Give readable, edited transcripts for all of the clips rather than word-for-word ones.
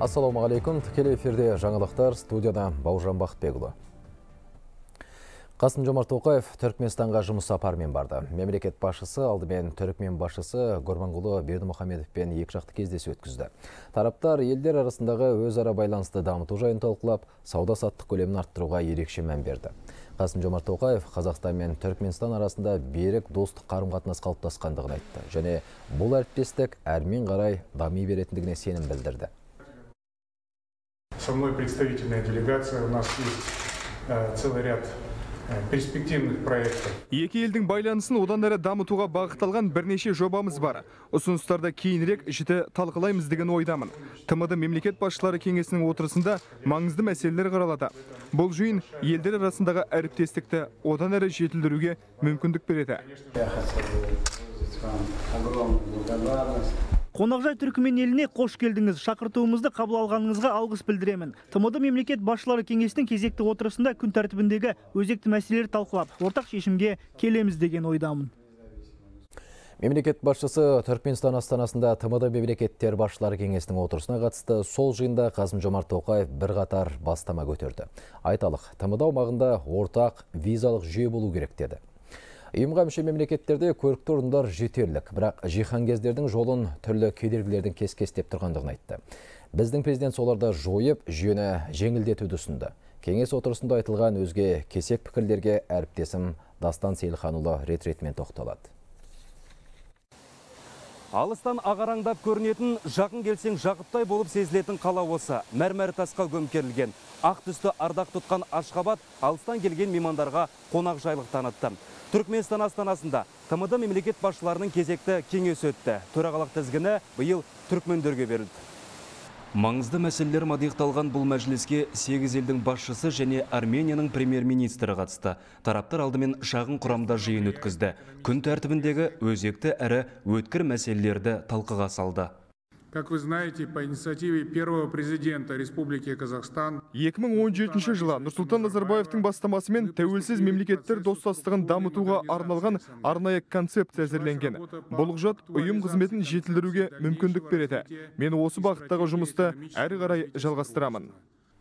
Ассалаумағалейкум, тікелей эфирде жаңалықтар, студияда Бауыржан Бақытбекұлы. Қасым-Жомарт Тоқаев Түркменстанға жұмыс сапарымен барды. Мемлекет басшысы алдымен Түркмен басшысы Гурбангулы Бердімұхамедовпен екіжақты кездесу өткізді. Тараптар елдер арасындағы өзара байланысты дамыту жайын талқылап, сауда-саттық көлемін арттыруға ерекше мән берді. Қасым-Жомарт Тоқаев Қазақстан мен Түркменстан арасында берік достық қарым-қатынас қалыптасқандығын айтты. Және бұл әріптестік әрмен қарай дами беретіндігіне сенім білдірді. Со мной представительная делегация, у нас есть целый ряд перспективных проектов. Екі елдің байланысын одан әрі дамытуға бағытталған бірнеше жобамыз бар. Ұсыныстарда кейінірек жіті талқылаймыз деген ойдамын. ТМД мемлекет басшылары кеңесінің отырысында маңызды мәселелер қаралады. Бұл жиын елдер арасындағы әріптестікті одан әрі жетілдіруге мүмкіндік береді. Қонақжай Түркмен еліне қош келдіңіз. Шақыртуымызды қабыл алғаныңызға алғыс білдіремін. ТМД мемлекет басшылары кеңесінің кезекті отырысында күн тәртібіндегі өзекті мәселелер талқылап, ортақ шешімге келеміз деген ойдамын. Мемлекет басшысы Түркменстан астанасында ТМД мемлекеттер басшылары кеңесінің отырысына қатысты. Сол жиында Қасым-Жомарт Тоқаев бірқатар бастама көтерді. Айталық, ТМД аумағында ортақ визалық жүйе болу керек деді. Ұйымға мүше мемлекеттерде көрікті орындар жетерлік, бірақ жиһангездердің жолын түрлі кедергілердің кес-кестеп тұрғандығын айтты. Біздің президент соларды жойып, жүйені жеңілдетуді ұсынды. Кеңес отырысында айтылған өзге кесек пікірлерге әріптесім Дастан Сейілханұлы рет-ретімен тоқталады. Алыстан ағараңдап көрінетін, жақын келсең жақыптай болып сезілетін қала осы. Мәрмәр тасқа көмкерілген. Ақ түсті ардақ тұтқан Ашхабад алыстан келген меймандарға қонақ жайлық танытты. Түркменстан астанасында ТМД мемлекет басшыларының кезекті кеңес өтті. Төрағалық тізгіні биыл түркмендерге берілді. Маңызды мәселелер мадиықталған бұл мәжіліске 8 елдің басшысы және Арменияның премьер-министрі қатысты. Тараптар алдымен шағын құрамда жиын өткізді. Күн тәртібіндегі өзекті әрі өткір мәселелерді талқыға салды. Как вы знаете, по инициативе первого президента Республики Казахстан 2017 жылы Нұрсұлтан Назарбаевтың бастамасымен тәуелсіз мемлекеттер достастығын дамытуға арналған арнайы концепция әзірленген. Бұл құжат ұйым қызметін жетілдіруге мүмкіндік береді. Мен осы бағыттағы жұмысты әрі қарай жалғастырамын.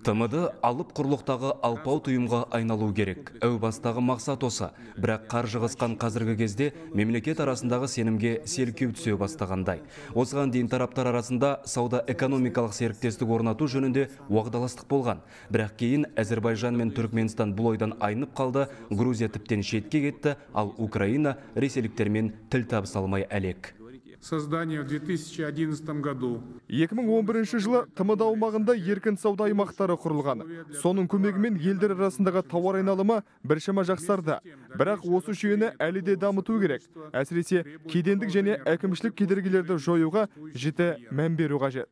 ТМД алып құрлықтағы алпауыт ұйымға айналу керек. Әу бастағы мақсат осы. Бірақ қаржы қысқан қазіргі кезде мемлекет арасындағы сенімге селкеу түсе бастағандай. Осыған дейін тараптар арасында сауда-экономикалық серіктестік орнату жөнінде уағдаластық болған. Бірақ кейін Әзербайжан мен Түркменстан бұл ойдан айнып қалды, Грузия тіптен шетке кетті, ал Украина ресейліктермен тіл табыса алмай әлек. Создание в 2011 году. 2011 жылы ТМД аумағында еркін сауда аймақтары құрылған. Соның көмегімен елдер арасындағы тауар айналымы біршама жақсарды. Бірақ осы жүйені әлі де дамыту керек. Әсіресе кедендік және әкімшілік кедергілерді жоюға жіті мән беру қажет.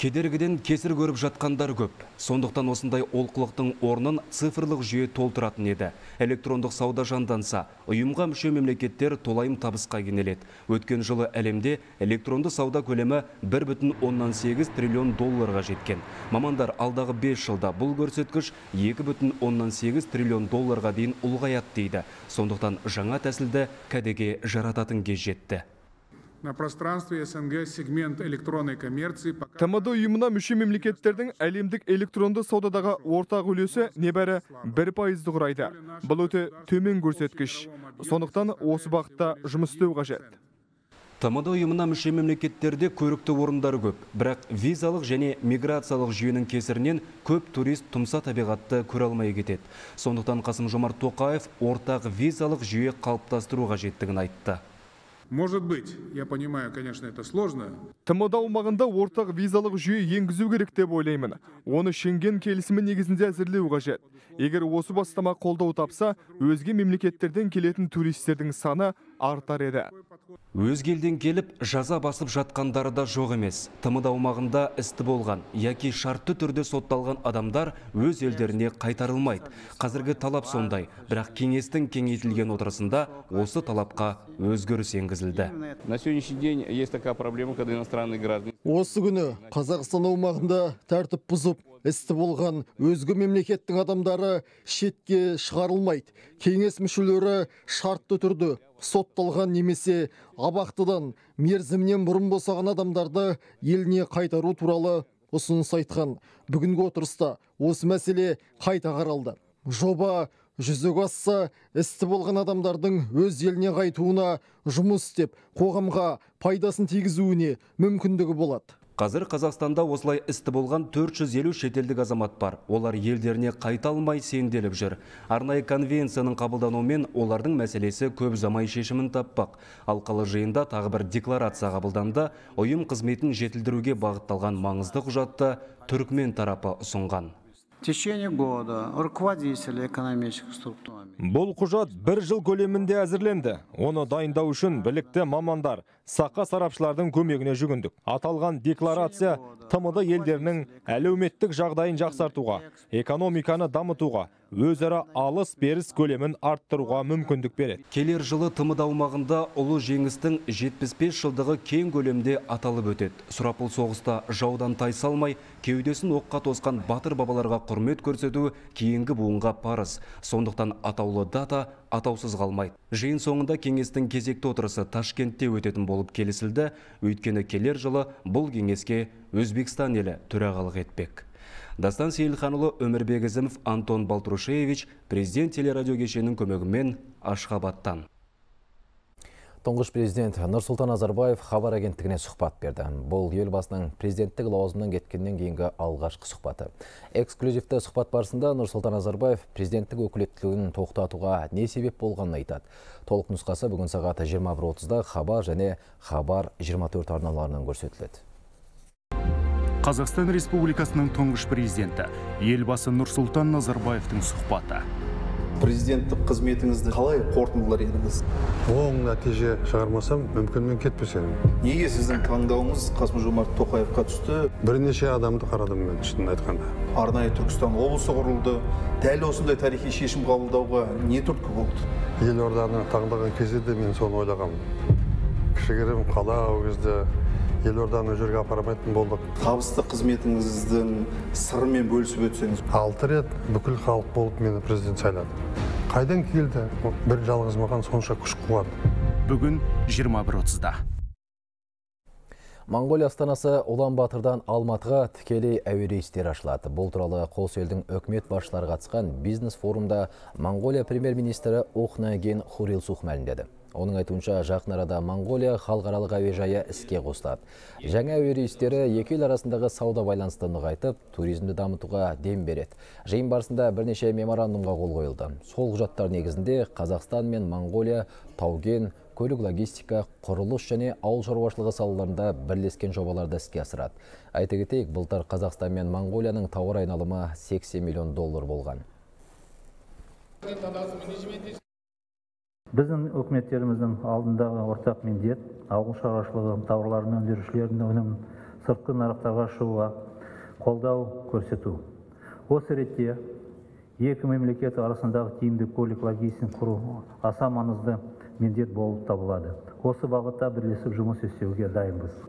Кедергіден кесір көріп жатқандар көп. Сондықтан осындай олқылықтың орнын цифрлық жүйе толтыратын еді. Электрондық сауда жанданса, ұйымға мүше мемлекеттер толайым табысқа кенеледі. Өткен жылы әлемде электронды сауда көлемі 1,8 триллион долларға жеткен. Мамандар алдағы 5 жылда бұл көрсеткіш 2,8 триллион долларға дейін ұлғаяды дейді. Сондықтан жаңа тәсілді кәдеге жарататын кез жетті. На пространстве СНГ сегмент электронной коммерции. ТМД ұйымына мүше мемлекеттердің әлемдік электронды саудадағы ортақ үлесі небәрі 1% құрайды. Бұл өте төмен көрсеткіш. Сондықтан осы бағытта жұмыс істеу қажет. ТМД ұйымына мүше мемлекеттерде көрікті орындар көп, бірақ визалық және миграциялық жүйенің кесірінен көп турист тұмса табиғатты көре алмай кетеді. Сондықтан Қасым-Жомарт Тоқаев ортақ визалық жүйе қалыптастыру қажеттігін айтты. Может быть, я понимаю, конечно, это сложно. ТМД аумағында ортақ визалық жүйе енгізу керек деп ойлаймын. Оны Шенген келісімі негізінде әзірлеу қажет. Егер осы бастама қолдау тапса, өзге мемлекеттерден келетін туристердің саны артар еді. Өзге елден келіп, жаза басып жатқандары да жоқ емес. ТМД аумағында істі болған, яки шартты түрде сотталған адамдар өз елдеріне қайтарылмайды. Қазіргі талап сондай, бірақ кеңестің кеңейтілген отырысында осы талапқа өзгеріс енгізілді. На сегодняшний день есть такая проблема, когда иностранные граждане. Осы күні Қазақстан аумағында тәртіп бұзып, істі болған өзге мемлекеттің адамдары шетке шығарылмайды. Кеңес мүшелері шартты түрде сотталған немесе абақтыдан мерзімнен бұрын босаған адамдарды еліне қайтару туралы ұсыныс айтқан. Бүгінгі отырыста осы мәселе қайта қаралды. Жоба жүзеге асса, істі болған адамдардың өз еліне қайтуына, жұмыс істеп, қоғамға пайдасын тигізуіне мүмкіндігі болады. Қазір Қазақстанда осылай істі болған 450 шетелдік азамат бар. Олар елдеріне қайта алмай сенделіп жүр. Арнайы конвенцияның қабылдануымен олардың мәселесі көп замай шешімін таппақ. Алқалы жиында тағы бір декларация қабылданды. Ұйым қызметін жетілдіруге бағытталған маңызды құжатты Түркмен тарапы ұсынған. В течение года руководители экономических структурами. Бұл құжат 1 жыл көлемінде әзірленді. Оны дайындау үшін білікті мамандар, сақа сарапшылардың көмегіне жүгіндік. Аталған декларация ТМД елдерінің әлеуметтік жағдайын жақсартуға, экономиканы дамытуға, өзара алыс-беріс көлемін арттыруға мүмкіндік береді. Келер жылы ТМД аумағында ұлы жеңістің 75 жылдығы кең көлемде аталып өтеді. Сұрапыл соғыста жаудан тайсалмай, кеудесін оққа тосқан батыр бабаларға құрмет көрсету кейінгі буынға парыз. Сондықтан атаулы дата атаусыз қалмайды. Жиын соңында кеңестің кезекті отырысы Ташкентте өтетін болып келісілді. Өйткені келер жылы бұл кеңеске Өзбекстан елі төрағалық етпек. Дастан Сейілханұлы, Өмірбек Ізімов, Антон Балтрушевич, президент телерадио кешенінің көмегімен Ашхабадтан. Тұңғыш президент Нұрсұлтан Назарбаев хабар агенттігіне сұхбат берді. Бұл елбасының президенттік лауазымынан кеткеннен кейінгі алғашқы сұхбаты. Эксклюзивті сұхбат барысында Нұрсұлтан Назарбаев президенттік өкілеттілігін тоқтатуға не себеп болғанын айтады. Толық нұсқасы бүгін сағат 21:30-да Хабар және Хабар 24 арналарынан көрсетіледі. Қазақстан Республикасының тұңғыш президенті елбасы Нұрсұлтан Назарбаевтың сұхбаты. Президенттік қызметіңізді қалай қорытындылар едіңіз? Оң нәтиже шығармасам, мүмкін мен кетпес едім. Неге сіздің таңдауыңыз Қасым-Жомарт Тоқаевқа түсті? Бірнеше адамды қарадым мен, шынын айтқанда. Арнайы Түркістан облысы құрылды. Дәл осындай тарихи шешім қабылдауға не түрткі болды? Елорданы таңдаған кезде де мен соны ойлағанмын. Кішігірім қала ол кезде елорданы жерге апармайтын болдық. Табысты қызметіңіздің сырымен бөлісіп өтсеңіз. 6 рет бүкіл халық болып мені президент сайлады. Қайдан келді? Бір жалғыз маған сонша күш қуат. Бүгін 21:30-да. Моңғолия астанасы Улан-Батырдан Алматыға тікелей әуе рейстері ашылады. Бұл туралы қос елдің үкімет басшылары қатысқан бизнес форумда Моңғолия премьер-министрі Ухнаагийн Хурилсух мәлімдеді. Оның айтуынша жақын арада Моңғолия халықаралық әуежайы іске қосылады. Жаңа әуе рейстері екі ел арасындағы сауда байланысты нығайтып, туризмді дамытуға дем береді. Жиын барысында бірнеше меморандумға қол қойылды. Сол құжаттар негізінде Қазақстан мен Моңғолия тау-кен, көлік логистика, құрылыс және ауыл шаруашылығы салаларында бірлескен жобаларды іске асырады. Айта кетейік, былтыр Қазақстан мен Моңғолияның тауар айналымы $80 миллион болған. Біздің үкіметтеріміздің алдындағы ортақ міндет ауыл шаруашылығы тауарларын өндірушілердің өнімін сыртқы нарықтарға шығуға қолдау көрсету. Осы ретте екі мемлекет арасындағы тиімді көлік логистикасын құру аса маңызды міндет болып табылады. Осы бағытта бірлесіп жұмыс істеуге дайынбыз.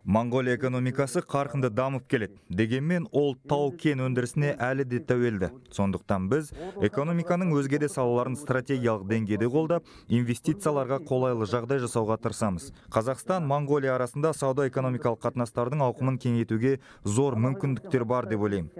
Моңғолия экономикасы қарқынды дамып келеді. Дегенмен ол тау-кен өндірісіне әлі де тәуелді. Сондықтан біз экономиканың өзге де салаларын стратегиялық деңгейде қолдап, инвестицияларға қолайлы жағдай жасауға тырысамыз. Қазақстан, Моңғолия арасында сауда-экономикалық қатынастардың ауқымын кеңейтуге зор мүмкіндіктер бар деп ойлаймын.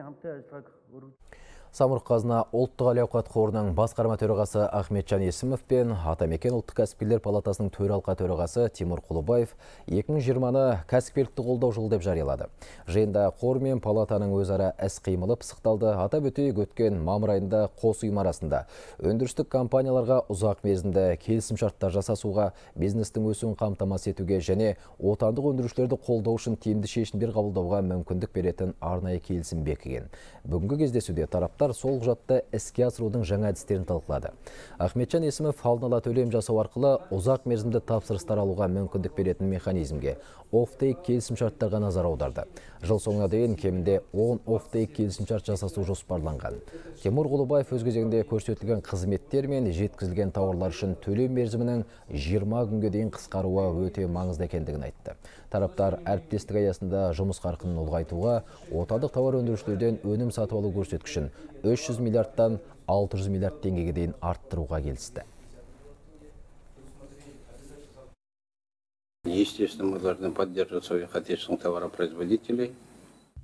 Самұрық-қазына ұлттық әл-ауқат қорының басқарма төрағасы Ахметжан Есімов пен Атамекен ұлттық кәсіпкерлер палатасының төралқа төрағасы Тимур Құлыбаев 2020-ны кәсіпкерлікті қолдау жылы деп жариялады. Жиында қор мен палатаның өзара іс-қимылы пысықталды. Атап өтейік, өткен мамыр айында қос ұйым арасында өндірістік компанияларға ұзақ мерзімді келісімшарттар жасасуға, бизнестің өсуін қамтамасыз етуге және отандық өндірушілерді қолдау үшін тиімді шешімдер қабылдауға мүмкіндік беретін арнайы келісім бекіген. Бүгінгі кездесуде тараптар сол құжатты іске асырудың жаңа әдістерін талқылады. Ахметжан Есімов алдын ала төлем жасау арқылы ұзақ мерзімді тапсырыстар алуға мүмкіндік беретін механизмге оффтейк келісімшарттарға назар аударды. Жыл соңына дейін кемінде 10 оффтейк келісімшарт жасасу жоспарланған. Тимур Құлыбаев өз кезегінде көрсетілген қызметтер мен жеткізілген тауарлар үшін төлем мерзімінің 20 күнге дейін қысқаруы өте маңызды екендігін айтты. Тараптар әріптестік аясында жұмыс қарқынын ұлғайтуға, отандық тауар өндірушілерден өнім сатып алу көрсеткішін 300 миллиардтан 600 миллиард теңгеге дейін арттыруға келісті. естественно, мы должны поддерживать своих отечественных товаропроизводителей.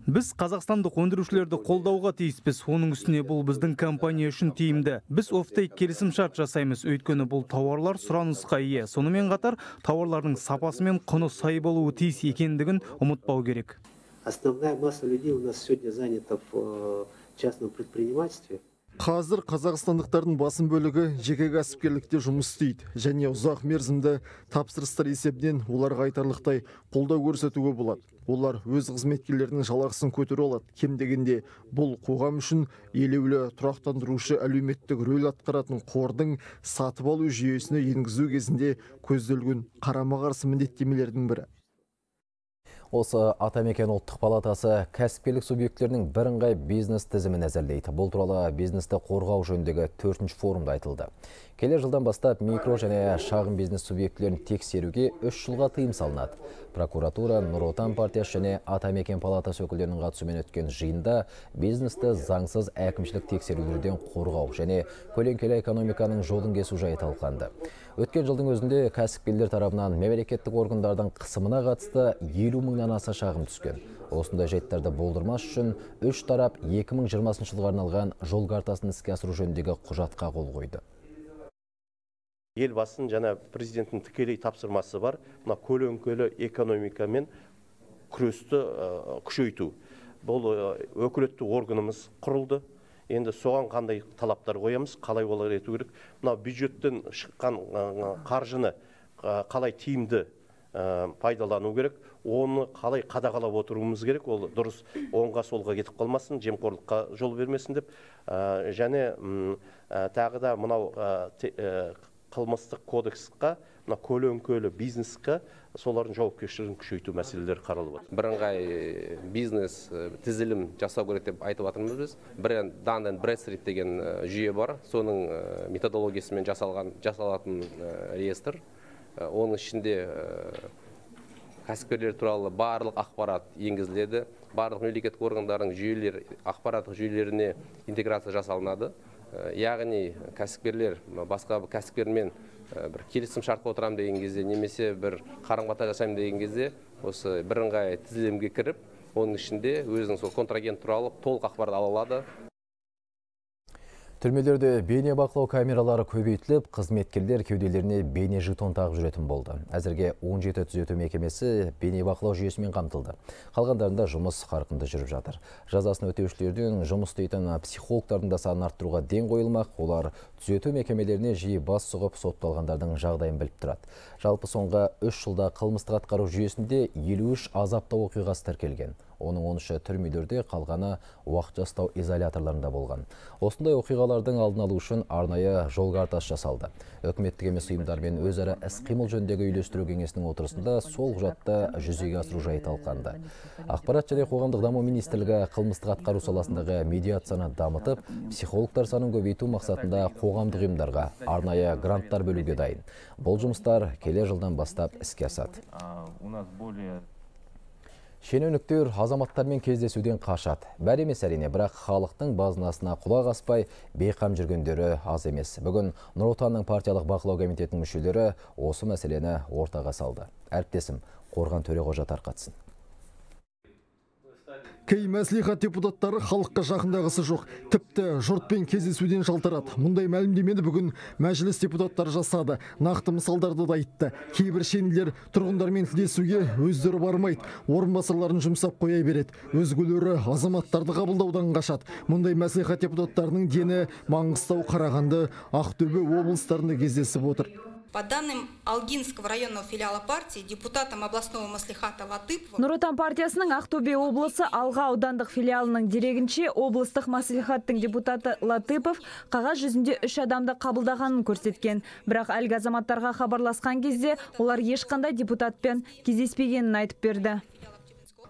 Біз қазақстандық өндірушілерді қолдауға тиіспіз. Оның үстіне бұл біздің компания үшін тиімді. Біз офтейк келісім-шарт жасаймыз, өйткені бұл тауарлар сұранысқа ие. Сонымен қатар тауарлардың сапасы мен құны сай болуы тиіс екендігін ұмытпау керек. Основная масса людей у нас сегодня занята в частном предпринимательстве. Қазір қазақстандықтардың басым бөлігі жеке кәсіпкерлікте жұмыс істейді, және ұзақ мерзімді тапсырыстар есебінен оларға айтарлықтай қолдау көрсетуге болады. Олар өз қызметкерлерінің жалақысын көтере алады. Кем дегенде бұл қоғам үшін елеулі тұрақтандырушы әлеуметтік рөл атқаратын қордың сатып алу жүйесіне енгізу кезінде көзделген қарама-қарсы міндеттемелердің бірі. Осы Атамекен ұлттық палатасы кәсіпкерлік субъектілерінің бірыңғай бизнес тізімін әзірлейді. Бұл туралы бизнесті қорғау жөніндегі 4-ші форумда айтылды. Келер жылдан бастап микро және шағын бизнес субъектілерін тексеруге 3 жылға тыйым салынады. Прокуратура, Нұр Отан партиясы және Атамекен палатасы өкілдерінің қатысуымен өткен жиында бизнесті заңсыз әкімшілік тексерулерден қорғау және көлеңкелі экономиканың жолын кесу жайы талқыланды. Өткен жылдың өзінде кәсіпкерлер тарапынан мемлекеттік органдардың қысымына қатысты 50 мыңнан аса шағым түскен. Осындай жайттарды болдырмас үшін 3 тарап 2020 жылға арналған жол картасын іске асыру жөніндегі құжатқа қол қойды. Елбасының жаңа президенттің тікелей тапсырмасы бар. Мына көлеңкелі экономикамен күресті күшейту. Бұл өкілетті органымыз құрылды. Енді соған қандай талаптар қоямыз, қалай олар ету керек. Мына бюджеттен шыққан қаржыны қалай тиімді пайдалану керек, оны қалай қадағалап отыруымыз керек. Ол дұрыс оңға солға кетіп қалмасын, жемқорлыққа жол бермесін деп. Және тағы да мынау қылмыстық кодексқа, мына көлеңкелі бизнесқа солардың жауапкершілігін күшейту мәселелері қаралып отыр. Бірыңғай бизнес тізілім жасау керек деп айтып жатырмыз біз. Данный Брэдстрит деген жүйе бар. Соның методологиясымен жасалатын реестр. Оның ішінде кәсіпкерлер туралы барлық ақпарат енгізіледі. Барлық мемлекеттік органдардың жүйелер, ақпараттық жүйелеріне интеграция жасалынады. Яғни кәсіпкерлер басқа кәсіпкермен бір келісім шартқа отырам деген кезде, немесе бір қарым-қатынас жасаймын деген кезде, осы бірыңғай тізілімге кіріп, оның ішінде өзінің сол контрагент туралы толық ақпарат ала алады. Түрмелерде бейне бақылау камералары көбейтіліп, қызметкерлер кеуделеріне бейне жетон тағып жүретін болды. Әзірге 17 түзету мекемесі бейне бақылау жүйесімен қамтылды. Қалғандарында жұмыс қарқынды жүріп жатыр. Жазасын өтеушілердің жұмыс істейтін психологтардың да санын арттыруға ден қойылмақ. Олар түзету мекемелеріне жиі бас сұғып сотталғандардың жағдайын біліп тұрады. Жалпы соңғы 3 жылда қылмыстық атқару жүйесінде 53 азаптау оқиғасы тіркелген. Оның 13-і түрмелерде, қалғаны уақытша ұстау изоляторларында болған. Осындай оқиғалардың алдын алу үшін арнайы жол картасы жасалды. Үкіметтік емес ұйымдармен өзара іс-қимыл жөніндегі үйлестіру кеңесінің отырысында сол құжатты жүзеге асыру жайы талқыланды. Ақпарат және қоғамдық даму министрлігі қылмыстық атқару саласындағы медиацияны дамытып, психологтар санын көбейту мақсатында қоғамдық ұйымдарға арнайы гранттар бөлуге дайын. Бұл жұмыстар келер жылдан бастап іске асады. Шенеуніктер азаматтармен кездесуден қашады. Бәр емес әрине, бірақ халықтың базынасына құлақ аспай бейқам жүргендері аз емес. Бүгін Нұр Отанның партиялық бақылау комитетінің мүшелері осы мәселені ортаға салды. Әріптесім Қорған Төреғожа тарқатсын. Кей мәслихат депутаттары халыққа жақындағысы жоқ. Тіпті жұртпен кездесуден жалтарады. Мұндай мәлімдемені бүгін мәжіліс депутаттары жасады. Нақты мысалдарды да айтты. Кейбір шенелер тұрғындармен тілдесуге өздері бармайды. Орынбасарларын жұмсап қоя береді. Өзгелері азаматтарды қабылдаудан қашады. Мұндай мәслихат депутаттарының дені Маңғыстау, Қарағанды, Ақтөбе облыстарында кездесіп отыр. По данным Алгинского районного филиала партии, депутатом областного маслихата Латыпова... Нұр Отан партиясының Ақтөбе облысы Алға аудандық филиалының дерегінше, облыстық маслихаттың депутаты Латыпов қағаз жүзінде 3 адамды қабылдағанын көрсеткен. Бірақ әлгі азаматтарға хабарласқан кезде олар ешқандай депутатпен кездеспегенін айтып берді.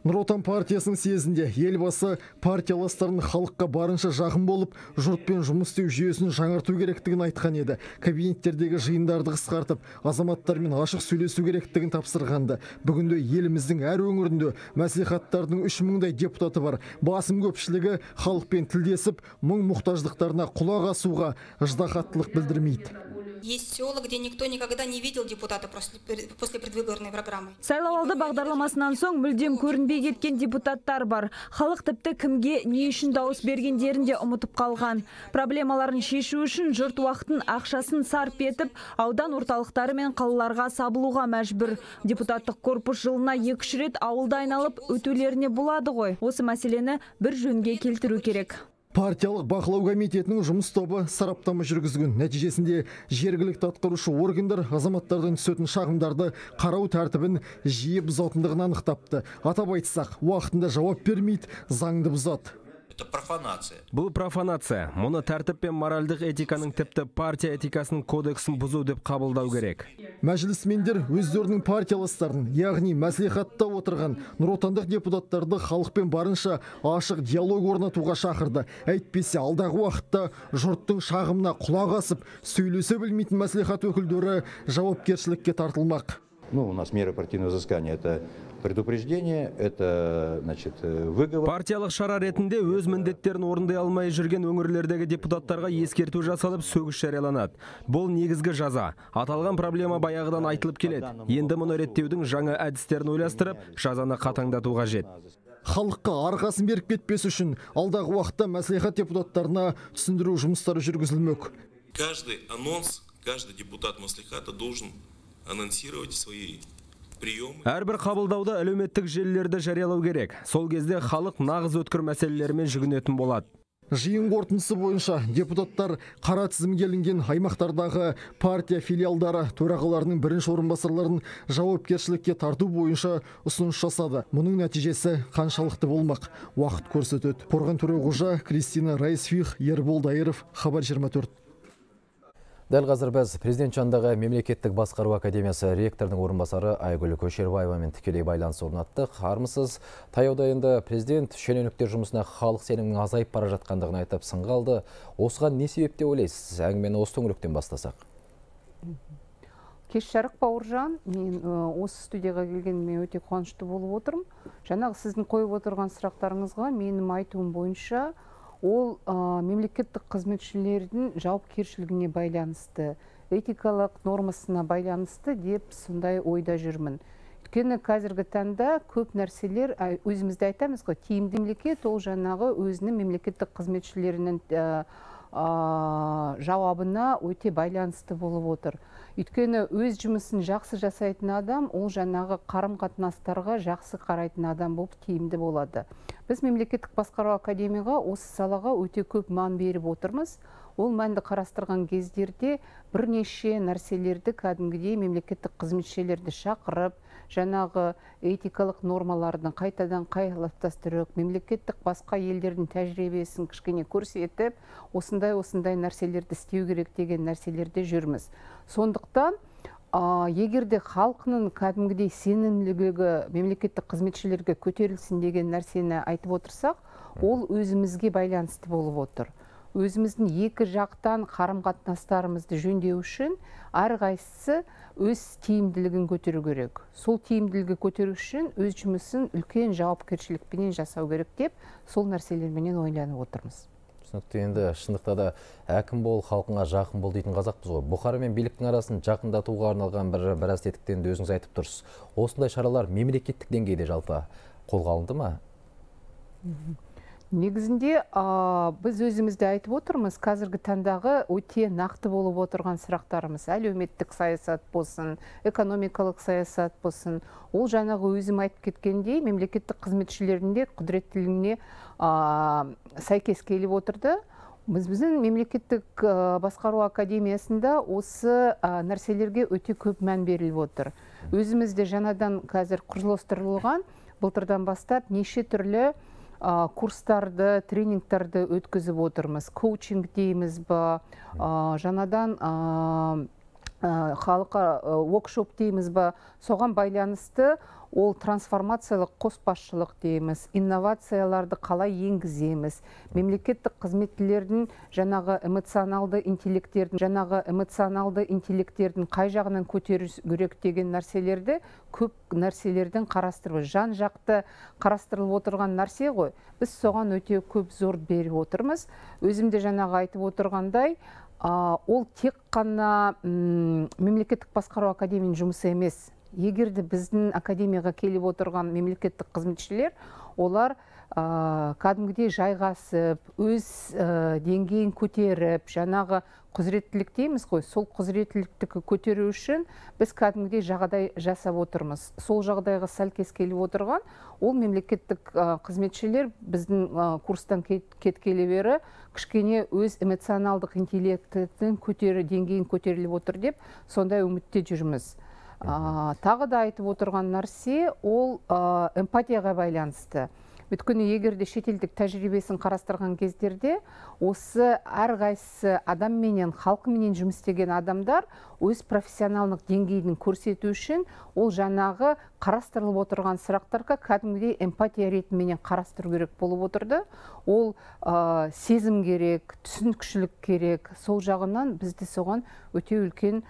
Нұр Отан партиясының съезінде елбасы партияластарын халыққа барынша жақын болып, жұртпен жұмыс істеу жүйесін жаңарту керектігін айтқан еді. Кабинеттердегі жиындарды қысқартып, азаматтармен ашық сөйлесу керектігін тапсырғанды. Бүгінде еліміздің әр өңірінде мәслихаттардың 3000-дай депутаты бар. Басым көпшілігі халықпен тілдесіп, мұң мұқтаждықтарына құлақ асуға ыждахаттылық білдірмейді. Есть села, где никто никогда не видел депутата после предвыборной программы. Сайлауалды бағдарламасынан соң мүлдем көрінбей кеткен депутаттар бар. Халық тіпті кімге не үшін дауыс бергендерін де ұмытып қалған. Проблемаларын шешу үшін жұрт уақытын ақшасын сарп етіп, аудан орталықтары мен қалаларға сабылуға мәжбүр. Депутаттық корпус жылына 2 рет ауылда айналып өтулеріне болады ғой. Осы мәселені бір жөнге келтіру керек. Партиялық бақылау комитетінің жұмыс тобы сараптама жүргізген. Нәтижесінде жергілікті атқарушы органдар азаматтардан түсетін шағымдарды қарау тәртібін жиі бұзатындығын анықтапты. Атап айтсақ, уақытында жауап бермейді, заңды бұзады. Это профанация. Бұл профанация. Мұны тәртіп пен моральдық этиканың тіпті партия этикасының кодексін бұзу деп қабылдау керек. Мәжілісмендер өздерінің партияластарын, яғни мәслихатта отырған нұротандық депутаттарды халықпен барынша ашық диалог орнатуға шақырды. Әйтпесе алдағы уақытта жұрттың шағымына құлақ асып, сөйлесе білмейтін мәслихат өкілдері жауапкершілікке тартылмақ. У нас меры партийного взыскания — это предупреждение, это, значит, выговор. Партиялық шара ретінде өз міндеттерін орындай алмай жүрген өңірлердегі депутаттарға ескерту жасалып, сөгіс жарияланады. Бұл негізгі жаза. Аталған проблема баяғыдан айтылып келеді. Енді мұны реттеудің жаңа әдістерін ойластырып, жазаны қатаңдату қажет. Халыққа арқасын беріп кетпес үшін алдағы уақытта мәслихат депутаттарына түсіндіру жұмыстары жүргізілмек. Каждый анонс, каждый депутат мәслихата должен анонсировать свои приемы. Әрбір қабылдауда әлеуметтік желілерді жариялау керек. Сол кезде халық нағыз өткір мәселелермен жүгінетін болады. Жиын қорытындысы бойынша депутаттар қара тізімге ілінген аймақтардағы партия филиалдары төрағаларының бірінші орынбасарларын жауапкершілікке тарту бойынша ұсыныс жасады. Мұның нәтижесі қаншалықты болмақ? Уақыт көрсетеді. Қорған Төреғожа, Кристина Райсфих, Ербол Дайыров, Хабар 24. Дәл қазір біз президент жанындағы мемлекеттік басқару академиясы ректорының орынбасары Айгүл Көшербаевамен тікелей байланыс орнаттық. Армысыз, таяуда енді президент шенеуніктер жұмысына халық сенімінің азайып бара жатқандығын айтып сынға алды. Осыған не себеп деп ойлайсыз? Әңгімені осы төңіректен бастасақ. Кеш жарық Бауыржан, мен осы студияға келгеніме өте қуанышты болып отырмын. Жаңағы сіздің қойып отырған сұрақтарыңызға менің айтуым бойынша ол мемлекеттік қызметшілердің жауапкершілігіне байланысты, этикалық нормасына байланысты деп сондай ойда жүрмін. Өйткені қазіргі таңда көп нәрселер, өзімізде айтамыз ғой, тиімді мемлекет ол жаңағы өзінің мемлекеттік қызметшілерінің жауабына өте байланысты болып отыр. Өйткені өз жұмысын жақсы жасайтын адам, ол жаңағы қарым-қатынастарға жақсы қарайтын адам болып тиімді болады. Біз мемлекеттік басқару академияға осы салаға өте көп мән беріп отырмыз. Ол мәнді қарастырған кездерде бірнеше нәрселерді кәдімгідей мемлекеттік қызметшілерді шақырып, жаңағы этикалық нормалардың қайтадан қалыптастырып, мемлекеттік басқа елдердің тәжірибесін кішкене көрсетіп, осындай нәрселерді істеу керек деген нәрселерде жүрміз. Сондықтан, егерде халқының кәдімгідей сенімділігі мемлекеттік қызметшілерге көтерілсін деген нәрсені айтып отырсақ, ол өзімізге байланысты болып отыр. Өзіміздің екі жақтан қарым-қатынастарымызды жөндеу үшін әрқайсысы өз тиімділігін көтеру керек. Сол тиімділігі көтеру үшін өз жұмысын үлкен жауапкершілікпенен жасау керек деп, сол нәрселерменен ойланып отырмыз. Түсінікті, енді шындықта да әкім бол, халқыңа жақын бол дейтін қазақпыз ғой. Бұқара мен биліктің арасын жақындатуға арналған біраз тетіктен де өзіңіз айтып тұрсыз. Осындай шаралар мемлекеттік деңгейде жалпы қолға алынды ма? Негізінде біз өзімізде айтып отырмыз, қазіргі таңдағы өте нақты болып отырған сұрақтарымыз, әлеуметтік саясат болсын, экономикалық саясат болсын, ол жаңағы өзім айтып кеткендей мемлекеттік қызметшілерінде құдіреттілігіне сәйкес келіп отырды. Біздің мемлекеттік басқару академиясында осы нәрселерге өте көп мән беріліп отыр. Өзімізде жаңадан қазір құрылыстырылған, былтырдан бастап неше түрлі курстарды, тренингтарды өткізіп отырмыз. Коучинг дейміз ба, жаңадан халыққа workshop дейміз ба, соған байланысты ол трансформациялық қосбасшылық дейміз, инновацияларды қалай енгіземіз, мемлекеттік қызметшілердің жаңағы эмоционалды интеллектердің қай жағынан көтеру керек деген нәрселерді көп нәрселердің қарастырып, жан жақты қарастырылып отырған нәрсе ғой. Біз соған өте көп зор беріп отырмыз. Өзімде жаңағы айтып отырғандай, ол тек қана мемлекеттік басқару академияның жұмысы емес. Егерде біздің академияға келіп отырған мемлекеттік қызметшілер, олар кәдімгідей жайғасып, өз деңгейін көтеріп, жаңағы құзыреттілік дейміз ғой, сол құзыреттілікті көтеру үшін біз кәдімгідей жағдай жасап отырмыз. Сол жағдайға сәлкес келіп отырған, ол мемлекеттік қызметшілер біздің курстан кеткелі бері кішкене өз эмоционалдық интеллектінің деңгейін көтеріліп отыр деп, сондай үмітте жүрміз. Тағы да айтып отырған нәрсе, ол эмпатияға байланысты. Өйткені егерде шетелдік тәжірибесін қарастырған кездерде, осы әрқайсысы адамменен, халқыменен жұмыс істеген адамдар өз профессионалдық деңгейін көрсету үшін ол жаңағы қарастырылып отырған сұрақтарға кәдімгідей эмпатия ретіменен қарастыру керек болып отырды. Ол сезім керек, түсінікшілік керек. Сол жағынан бізде соған өте үлкен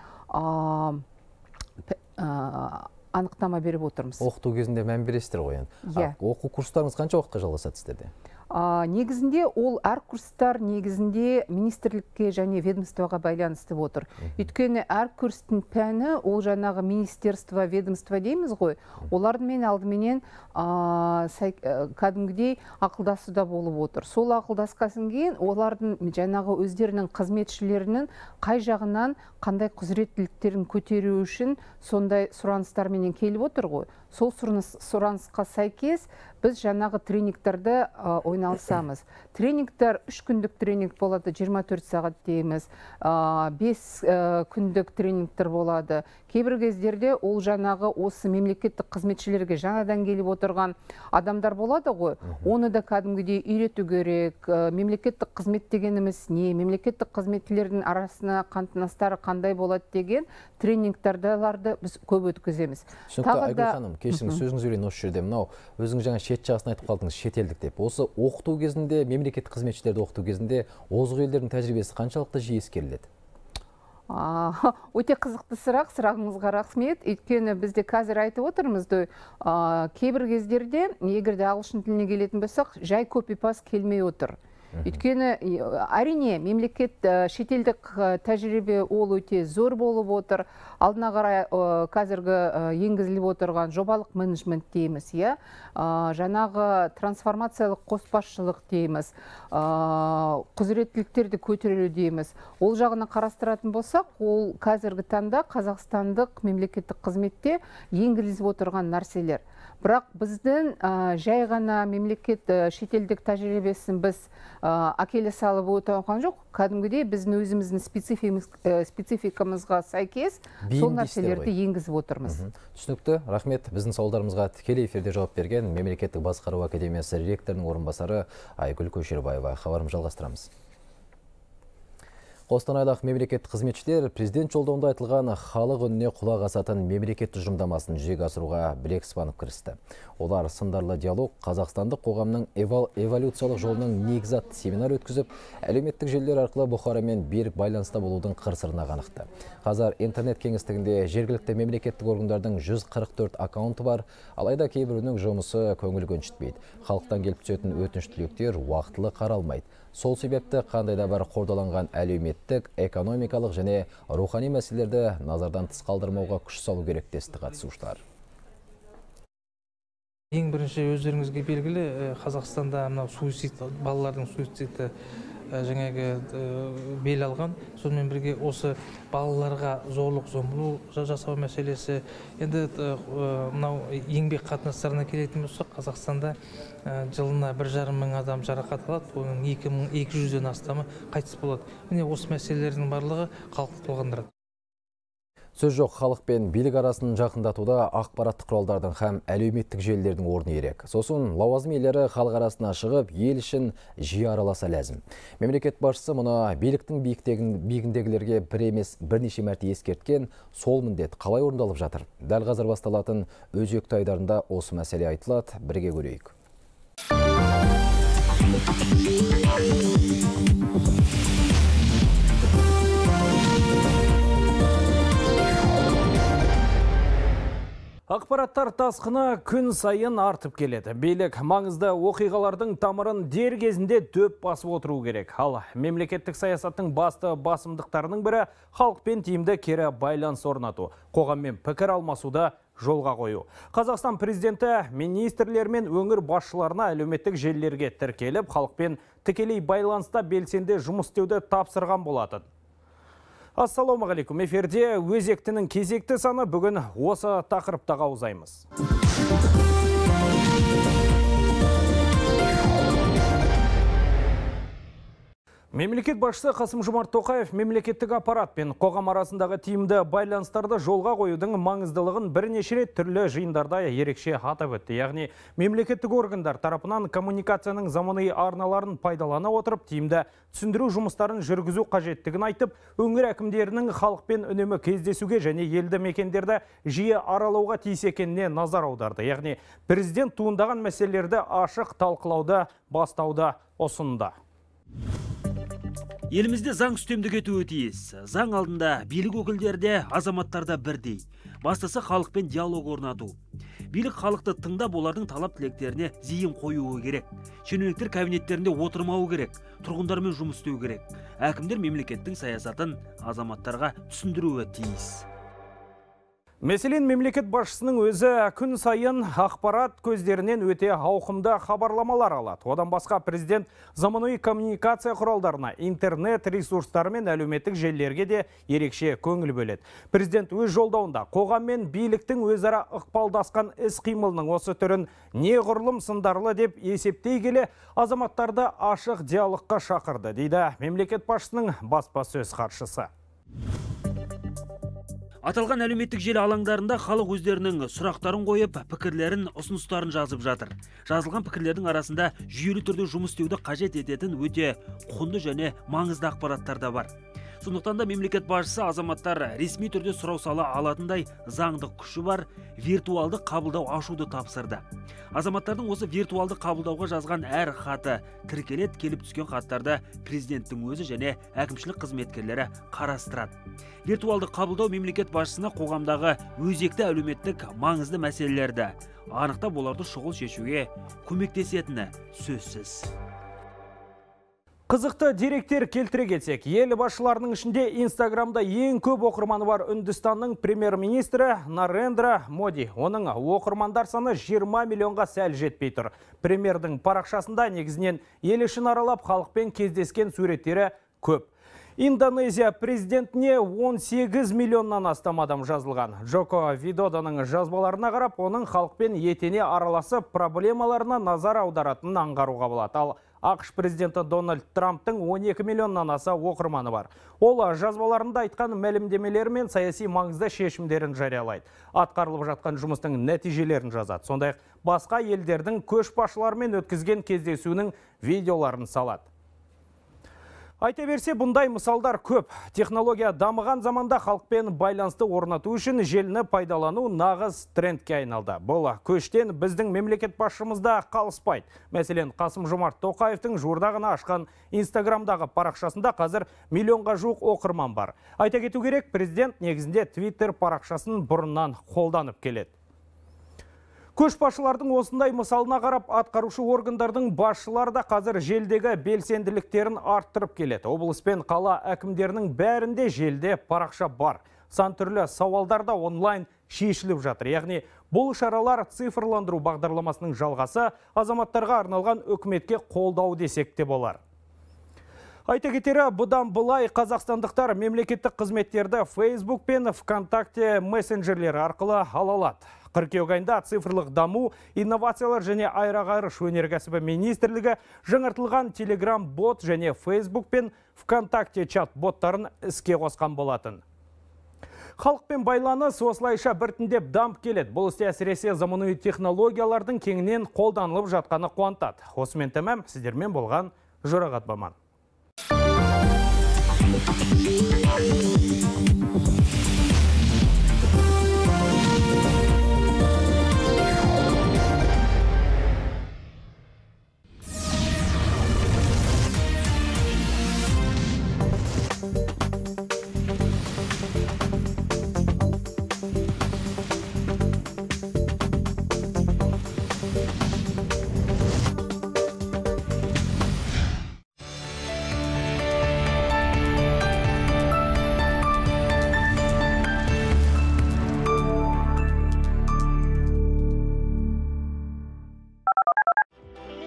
анықтама беріп отырмыз. Оқыту кезінде мән бересіздер ғой енді. Оқу курстарыңыз қанша уақытқа жалғасады сіздерде? Негізінде ол әр курстар негізінде министрлікке және ведомствоға байланысты отыр. Өйткені әр курстың пәні ол жаңағы министерство, ведомство дейміз ғой. Олармен алдыменен кәдімгідей ақылдасуда болып отыр. Сол ақылдасқасын кейін олардың жаңағы өздерінің қызметшілерінің қай жағынан қандай құзыреттіліктерін көтеру үшін сондай сұраныстарменен келіп отыр ғой. Сол сұранысқа сәйкес біз жаңағы тренингтерді ойналысамыз. Тренингтер 3 күндік тренинг болады, 24 сағат дейміз, 5 күндік тренингтер болады. Кейбір кездерде ол жаңағы осы мемлекеттік қызметшілерге жаңадан келіп отырған адамдар болады ғой. Оны да кәдімгідей үйрету керек. Мемлекеттік қызмет дегеніміз не? Мемлекеттік қызметшілердің арасына қатынастары қандай болады деген тренингтерді біз көп өткіземіз. Айгүл ханым, кешіріңіз, сөзіңіз өрейін осы жерде. Мынау өзіңіз жаңа шет жағысын айтып қалдыңыз, шетелдік деп. Осы оқыту кезінде, мемлекеттік қызметшілерді оқыту кезінде озық елдердің тәжірибесі қаншалықты жиі ескеріледі? Өте қызықты сұрақ, сұрағыңызға рахмет. Өйткені бізде қазір айтып отырмыз, кейбір кездерде, егерде ағылшын тіліне келетін болсақ, жай копи-паст келмей отыр. Өйткені әрине мемлекет шетелдік тәжірибе ол өте зор болып отыр. Алдына қарай қазіргі енгізіліп отырған жобалық менеджмент дейміз, жаңағы трансформациялық қосбасшылық дейміз, құзыреттіліктерді көтерілу дейміз. Ол жағына қарастыратын болсақ, ол қазіргі таңда қазақстандық мемлекеттік қызметте енгізіліп отырған нәрселер. Бірақ біздің жай ғана мемлекет шетелдік тәжірибесін біз әкеле салып отырған жоқ. Кәдімгідей біздің өзіміздің спецификамызға сәйкес сол нәрселерді енгізіп отырмыз. Түсінікті, рахмет. Біздің сауалдарымызға тікелей эфирде жауап берген Мемлекеттік басқару академиясы ректорының орынбасары Айгүл Көшербаева. Хабарымызды жалғастырамыз. Қостанайлық мемлекеттік қызметшілер президент жолдауында айтылған халық үніне құлақ асатын мемлекет тұжырымдамасын жүзеге асыруға білек сыбанып кірісті. Олар сындарлы диалог, қазақстандық қоғамның эволюциялық жолының негізі атты семинар өткізіп, әлеуметтік желілер арқылы Бұхарамен берік байланыста болудың қыр-сырына қанықты. Қазір интернет кеңістігінде жергілікті мемлекеттік органдардың 144 аккаунты бар, алайда кейбірінің жұмысы көңіл көншітпейді. Халықтан келіп түсетін өтініш тілектер уақытылы қаралмайды. Сол себепті қандай да бір қордаланған әлеуметтік, экономикалық және рухани мәселелерді назардан тыс қалдырмауға күш салу керек десті қатысушылар. Ең бірінші өздеріңізге белгілі, Қазақстанда балалардың суициді бел алған. Сонымен бірге осы балаларға зорлық-зомбылық жасау мәселесі. Енді мынау еңбек қатынастарына келетін болсақ, Қазақстанда жылына 1,5 мың адам жарақат алады, оның 2200-ден астамы қайтыс болады. Міне осы мәселелердің барлығы халықты толғандырады. Сөз жоқ, халық пен билік арасын жақындатуда ақпараттық құралдардың һәм әлеуметтік желілердің орны ерек. Сосын лауазым иелері халық арасына шығып, ел үшін жиі араласа ләзім. Мемлекет басшысы мұны биліктің биігіндегілерге бір емес бірнеше мәрте ескерткен, сол міндет қалай орындалып жатыр? Дәл қазір басталатын өзекті айдарында осы мәселе айтылады, бірге көрейік. Ақпараттар тасқыны күн сайын артып келеді. Билік маңызды оқиғалардың тамырын дер кезінде дөп басып отыру керек. Ал мемлекеттік саясаттың басты басымдықтарының бірі халықпен тиімді кері байланыс орнату, қоғаммен пікір алмасуды жолға қою. Қазақстан президенті министрлер мен өңір басшыларына әлеуметтік желілерге тіркеліп, халықпен тікелей байланыста белсенді жұмыс істеуді тапсырған болатын. Ассалаумағалейкум, эфирде өзектінің кезекті саны, бүгін осы тақырыптаға аузаймыз. Мемлекет басшысы Қасым-Жомарт Тоқаев мемлекеттік аппарат пен қоғам арасындағы тиімді байланыстарды жолға қоюдың маңыздылығын бірнеше рет түрлі жиындарда ерекше атап өтті. Яғни мемлекеттік органдар тарапынан коммуникацияның заманауи арналарын пайдалана отырып, тиімді түсіндіру жұмыстарын жүргізу қажеттігін айтып, өңір әкімдерінің халықпен үнемі кездесуге және елді мекендерді жиі аралауға тиіс екеніне назар аударды. Яғни президент туындаған мәселелерді ашық талқылауды бастауды ұсынды. Елімізде заң үстемдік етуі тиіс. Заң алдында билік өкілдері де, азаматтар да бірдей. Бастысы халықпен диалог орнату. Билік халықты тыңдап, олардың талап тілектеріне зейін қоюы керек. Шенеуніктер кабинеттерінде отырмауы керек. Тұрғындармен жұмыс істеу керек. Әкімдер мемлекеттің саясатын азаматтарға түсіндіруі тиіс. Мәселен, мемлекет басшысының өзі күн сайын ақпарат көздерінен өте ауқымды хабарламалар алады. Одан басқа президент заманауи коммуникация құралдарына, интернет ресурстары мен әлеуметтік желілерге де ерекше көңіл бөледі. Президент өз жолдауында қоғам мен биліктің өзара ықпалдасқан іс-қимылының осы түрін неғұрлым сындарлы деп есептей келе, азаматтарды ашық диалогқа шақырды, дейді мемлекет басшысының баспасөз хатшысы. Аталған әлеуметтік желі алаңдарында халық өздерінің сұрақтарын қойып, пікірлерін, ұсыныстарын жазып жатыр. Жазылған пікірлердің арасында жүйелі түрде жұмыс істеуді қажет ететін өте құнды және маңызды ақпараттар да бар. Сондықтан да мемлекет басшысы азаматтар ресми түрде сұрау сала алатындай заңдық күші бар виртуалды қабылдау ашуды тапсырды. Азаматтардың осы виртуалды қабылдауға жазған әр хаты тіркелет, келіп түскен хаттарды президенттің өзі және әкімшілік қызметкерлері қарастырады. Виртуалды қабылдау мемлекет басшысына қоғамдағы өзекті әлеуметтік маңызды мәселелерді анықтап, оларды шұғыл шешуге көмектесетіні сөзсіз. Қызықты деректер келтіре кетсек, ел басшыларының ішінде Инстаграмда ең көп оқырманы бар Үндістанның премьер-министрі Нарендра Моди. Оның оқырмандар саны 20 миллионға сәл жетпей тұр. Премьердің парақшасында негізінен ел ішін аралап, халықпен кездескен суреттері көп. Индонезия президентіне 18 миллионнан астам адам жазылған. Джоко Видодоның жазбаларына қарап, оның халықпен етене араласып, проблемаларына назар аударатынын аңғаруға болады. Ал ақш президенті Дональд Трамптың 12 миллионнан аса оқырманы бар. Ол жазбаларында айтқан мәлімдемелер мен саяси маңызды шешімдерін жариялайды. Атқарылып жатқан жұмыстың нәтижелерін жазады. Сондай басқа елдердің көшбасшыларымен өткізген кездесуінің видеоларын салады. Айта берсе, бұндай мысалдар көп. Технология дамыған заманда халықпен байланысты орнату үшін желіні пайдалану нағыз трендке айналды. Бұл көштен біздің мемлекет басшымызда қалыспайды. Мәселен, Қасым-Жомарт Тоқаевтың жуырда ғана ашқан Инстаграмдағы парақшасында қазір миллионға жуық оқырман бар. Айта кету керек, президент негізінде Twitter парақшасын бұрыннан қолданып келеді. Көшбасшылардың осындай мысалына қарап, атқарушы органдардың басшылары да қазір желдегі белсенділіктерін арттырып келеді. Облыс пен қала әкімдерінің бәрінде желде парақша бар. Сан түрлі сауалдар да онлайн шешіліп жатыр. Яғни бұл шаралар цифрландыру бағдарламасының жалғасы, азаматтарға арналған үкіметке қолдау десек те болар. Айта кетері, бұдан былай қазақстандықтар мемлекеттік қызметтерді Facebook пен ВКонтакте мессенджерлері арқылы ала алады. Қыркүйек айында цифрлық даму, инновациялар және аэроғарыш өнеркәсібі министрлігі жаңартылған Telegram бот және Facebook пен ВКонтакте чат боттарын іске қосқан болатын. Халықпен байланыс осылайша біртіндеп дамып келеді. Бұл істе әсіресе заманауи технологиялардың кеңінен қолданылып жатқаны қуантады. Осымен тәмам, сіздермен болған Жұрағат Баман.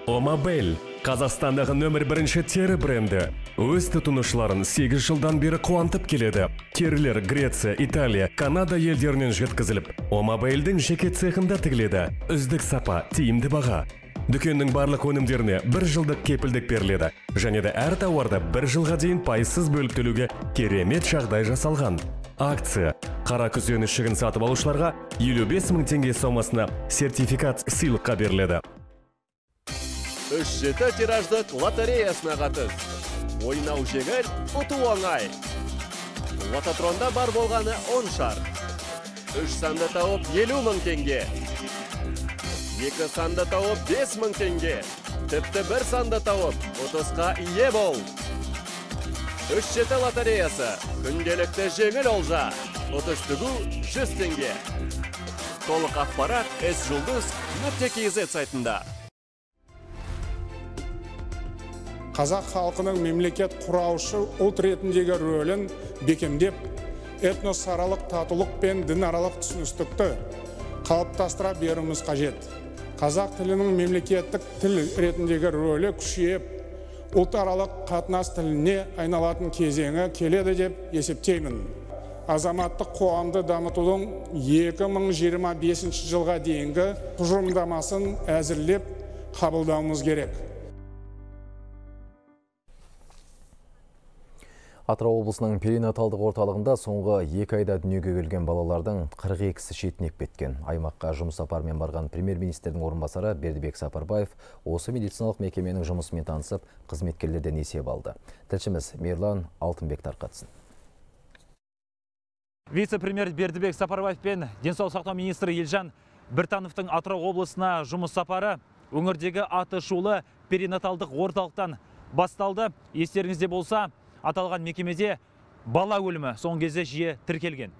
Омабель, Қазақстандағы нөмір 1 тері бренді. Өз тұтынушыларын 8 жылдан бері қуантып келеді. Терілер Греция, Италия, Канада елдерінен жеткізіліп, Омабельдің жеке цехында тігіледі. Үздік сапа, тиімді баға. Дүкеннің барлық өнімдеріне 1 жылдық кепілдік беріледі. Және де әр тауарды 1 жылға дейін пайызсыз бөліп төлеуге керемет жағдай жасалған. Акция. Қара күзен ішігін сатып алушыларға 55 мың теңге сомасына сертификат сыйлыққа беріледі. 3-7 тираждық лотереясына қатыс. Ойнау жеңіл, ұту оңай. Лототронда бар болғаны 10 шар. 3 санды тауып 50 мың теңге. 2 санды тауып 5 мың теңге. Тіпті 1 санды тауып 30-қа ие бол. 3-7 лотереясы. Күнделікті жеңіл олжа. 30 түгу 100 теңге. Толық ақпарат S-Жұлдыз.kz сайтында. Қазақ халқының мемлекет құраушы ұлт ретіндегі рөлін бекемдеп, этносаралық татулық пен дінаралық түсіністікті қалыптастыра беруіміз қажет. Қазақ тілінің мемлекеттік тіл ретіндегі рөлі күшейіп, ұлтаралық қатынас тіліне айналатын кезеңі келеді деп есептеймін. Азаматтық қоғамды дамытудың 2025 жылға дейінгі тұжырымдамасын әзірлеп қабылдауымыз керек. Атырау облысының перинаталдық орталығында соңғы 2 айда дүниеге келген балалардың 42-сі шетінеп кеткен. Аймаққа жұмыс сапарымен барған премьер-министрдің орынбасары Бердібек Сапарбаев осы медициналық мекеменің жұмысымен танысып, қызметкерлерден есеп алды. Тілшіміз Мерлан Алтынбек тарқатсын. Вице-премьер Бердібек Сапарбаев пен денсаулық сақтау министрі Елжан Біртановтың Атырау облысына жұмыс сапары өңірдегі аты шулы перинаталдық орталықтан басталды. Естеріңізде болса, аталған мекемеде бала өлімі соңғы кезде жиі тіркелген.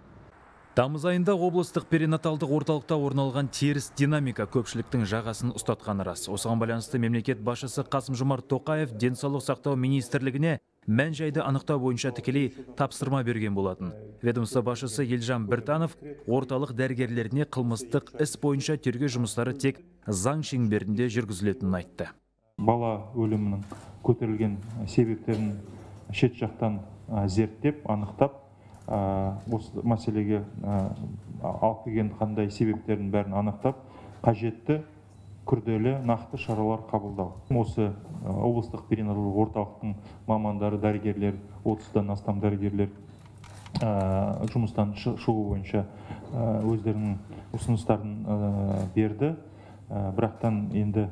Тамыз айында облыстық перинаталдық орталықта орналған теріс динамика көпшіліктің жағасын ұстатқаны рас. Осыған байланысты мемлекет басшысы Қасым-Жомарт Тоқаев денсаулық сақтау министрлігіне мән-жайды анықтау бойынша тікелей тапсырма берген болатын. Ведомство басшысы Елжан Біртанов орталық дәрігерлеріне қылмыстық іс бойынша тергеу жұмыстары тек заң шеңберінде жүргізілетінін айтты. Бала өлімінің көтерілген себептерін шет жақтан зерттеп, анықтап, осы мәселеге алып келген қандай себептерін бәрін анықтап, қажетті күрделі нақты шаралар қабылдау. Осы облыстық перинаталдық орталықтың мамандары, дәрігерлер, 30-дан астам дәрігерлер жұмыстан шығу бойынша өздерінің ұсыныстарын берді. Бірақтан енді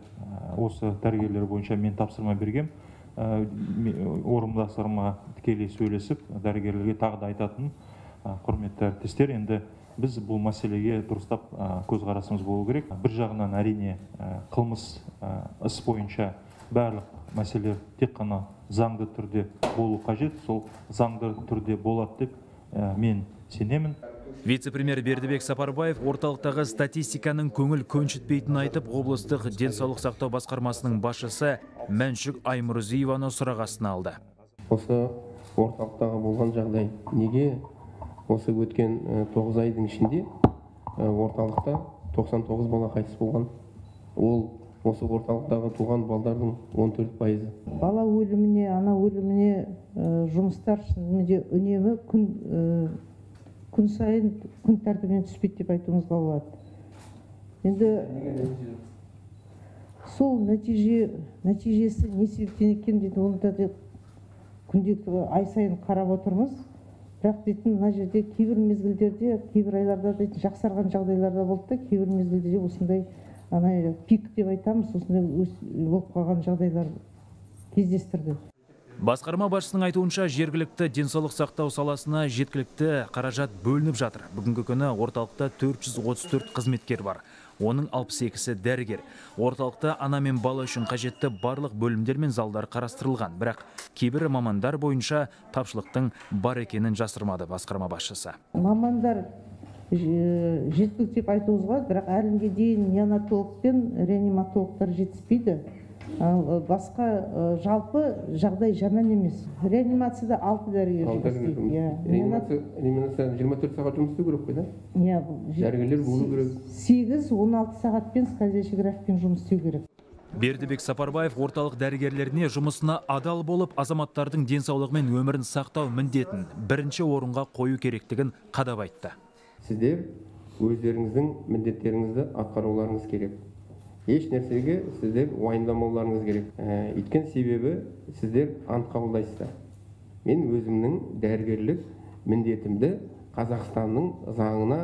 осы дәрігерлер бойынша мен тапсырма бергем. Орынбасарыма тікелей сөйлесіп, дәрігерлерге тағы да айтатын, құрметті әріптестер, енді біз бұл мәселеге дұрыстап көзқарасымыз болу керек. Бір жағынан әрине қылмыс іс бойынша барлық мәселелер тек қана заңды түрде болу қажет, сол заңды түрде болады деп мен сенемін. Вице-премьер Бердібек Сапарбаев орталықтағы статистиканың көңіл көншітпейтінін айтып, облыстық денсаулық сақтау басқармасының басшысы Мәншүк Аймұрзиеваны сұрақ астына алды. Осы орталықтағы болған жағдай неге осы өткен 9 айдың ішінде орталықта 99 бала қайтыс болған? Ол осы орталықтағы туған балдардың 14%. Бала өліміне, ана өліміне жұмыстар үнемі күн сайын күн тәртібінен түспейді деп айтуымызға болады. Енді сол нәтижесі не себептен екен дейді, оны да күнделікті ай сайын қарап отырмыз. Бірақ дейтін, мына жерде кейбір мезгілдерде, кейбір айларда дейтін жақсарған жағдайларда болды да, кейбір мезгілдерде осындай пик деп айтамыз, осындай болып қалған жағдайлар кездестірді. Басқарма басшысының айтуынша жергілікті денсаулық сақтау саласына жеткілікті қаражат бөлініп жатыр. Бүгінгі күні орталықта 434 қызметкер бар. Оның 62-сі дәрігер. Орталықта ана мен бала үшін қажетті барлық бөлімдер мен залдар қарастырылған. Бірақ кейбір мамандар бойынша тапшылықтың бар екенін жасырмады басқарма басшысы. Мамандар жеткілікті деп айтуымызға, бірақ әлінге дейін неонатолог пен реаниматологтар жетіспейді. Басқа жалпы жағдай жаман емес. Реанимацияда 6 дәрігер істейді. Реанимацияда 24 сағат жұмыс істеу керек қой, да? Дәрігерлер болу керек. 8-16 сағатпен скальзиографпен жұмыс істеу керек. Бердібек Сапарбаев орталық дәрігерлеріне жұмысына адал болып, азаматтардың денсаулығы мен өмірін сақтау міндетін бірінші орынға қою керектігін қадап айтты. Сіздер өздеріңіздің міндеттеріңізді атқаруларыңыз керек. Еш нәрсеге сіздер уайымдамауларыңыз керек. Өйткені себебі сіздер ант қабылдайсыздар. Мен өзімнің дәрігерлік міндетімді Қазақстанның заңына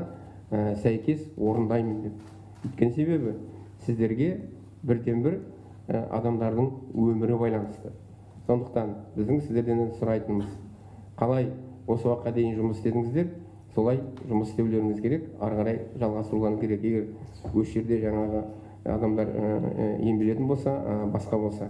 сәйкес орындаймын деп. Өйткені себебі сіздерге бірден-бір адамдардың өмірі байланысты. Сондықтан біздің сіздерден сұрайтынымыз, қалай осы уақытқа дейін жұмыс істедіңіздер, солай жұмыс істеулеріңіз керек, ары қарай жалғастыруларыңыз керек. Егер осы жерде жаңағы адамдар емделетін болса, басқа болса.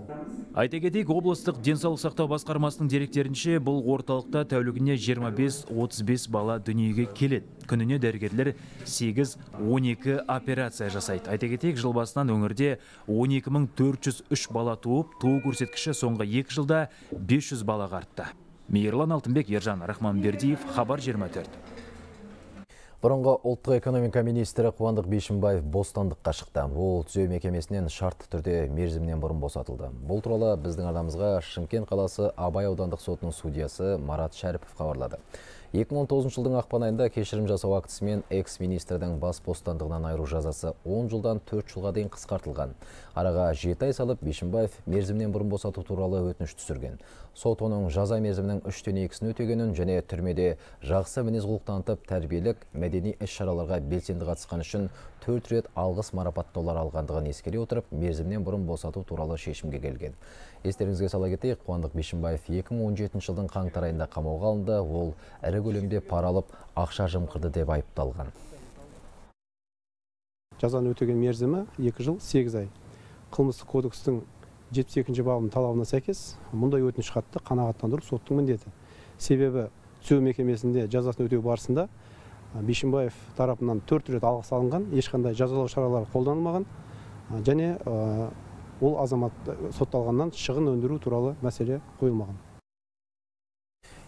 Айта кетейік, облыстық денсаулық сақтау басқармасының деректерінше, бұл орталықта тәулігіне 25-35 бала дүниеге келеді. Күніне дәрігерлер 8-12 операция жасайды. Айта кетейік, жыл басынан өңірде 12403 бала туып, туу көрсеткіші соңғы 2 жылда 500 балаға артты. Мейірлан Алтынбек, Ержан Рахманбердиев, Хабар 24. Бұрынғы ұлттық экономика министрі Қуандық Бишімбаев бостандыққа шықты. Ол түзеу мекемесінен шартты түрде мерзімнен бұрын босатылды. Бұл туралы біздің арнамызға Шымкент қаласы Абай аудандық сотының судьясы Марат Шәріпов хабарлады. 2019 жылдың ақпан айында кешірім жасау актісімен экс-министрдің бас бостандығынан айыру жазасы 10 жылдан 4 жылға дейін қысқартылған. Араға 7 ай салып, Бишімбаев мерзімнен бұрын босату туралы өтініш түсірген. Сот оның жаза мерзімінің 3/2-сін өтегенін және түрмеде жақсы мінез құлық танытып, тәрбиелік, мәдени іс-шараларға белсенді қатысқан үшін 4 рет алғыс марапаттаулар алғандығын ескере отырып, мерзімнен бұрын босату туралы шешімге келген. Естеріңізге сала кетейік, Қуандық Бишімбаев 2017 жылдың қаңтар айында қамауға алынды. Ол ірі көлемде пара алып, ақша жымқырды деп айыпталған. Жазаны өтеген мерзімі 2 жыл 8 ай. Қылмыстық кодекстің 72-ші бабының талабына сәйкес мұндай өтініш хатты қанағаттандыру соттың міндеті. Себебі түзеу мекемесінде жазасын өтеу барысында Бишімбаев тарапынан 4 рет алғыс алынған, ешқандай жазалау шаралары қолданылмаған, және ол азамат сотталғаннан шығын өндіру туралы мәселе қойылмаған.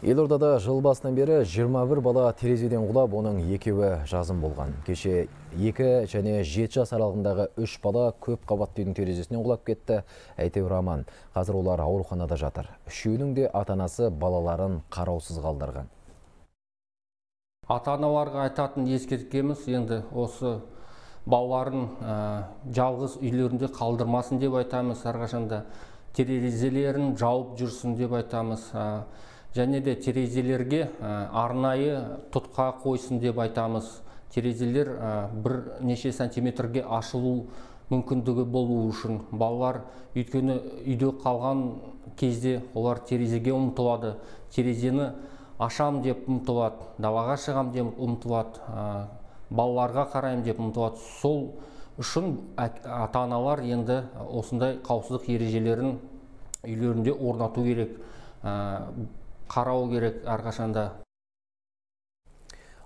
Елордада жыл басынан бері 21 бала терезеден құлап, оның 2-і жазым болған. Кеше 2 және 7 жас аралығындағы 3 бала көп қабатты үйдің терезесінен құлап кетті. Әйтеуір аман. Қазір олар ауруханада жатыр. Үшеуінің де ата-анасы балаларын қараусыз қалдырған. Ата-аналарға айтатын ескертеміз, енді осы балаларын жалғыз үйлерінде қалдырмасын деп айтамыз. Әрқашанда терезелерін жауып жүрсін деп айтамыз. Және де терезелерге арнайы тұтқа қойсын деп айтамыз. Терезелер бірнеше сантиметрге ашылу мүмкіндігі болу үшін. Балалар өйткені үйде қалған кезде олар терезеге ұмтылады. Терезені ашам деп ұмтылады, далаға шығам деп ұмтылады, балаларға қарайым деп ұмтылады. Сол үшін ата-аналар енді осындай қауіпсіздік ережелерін үйлерінде орнату керек, қарау керек әрқашанда.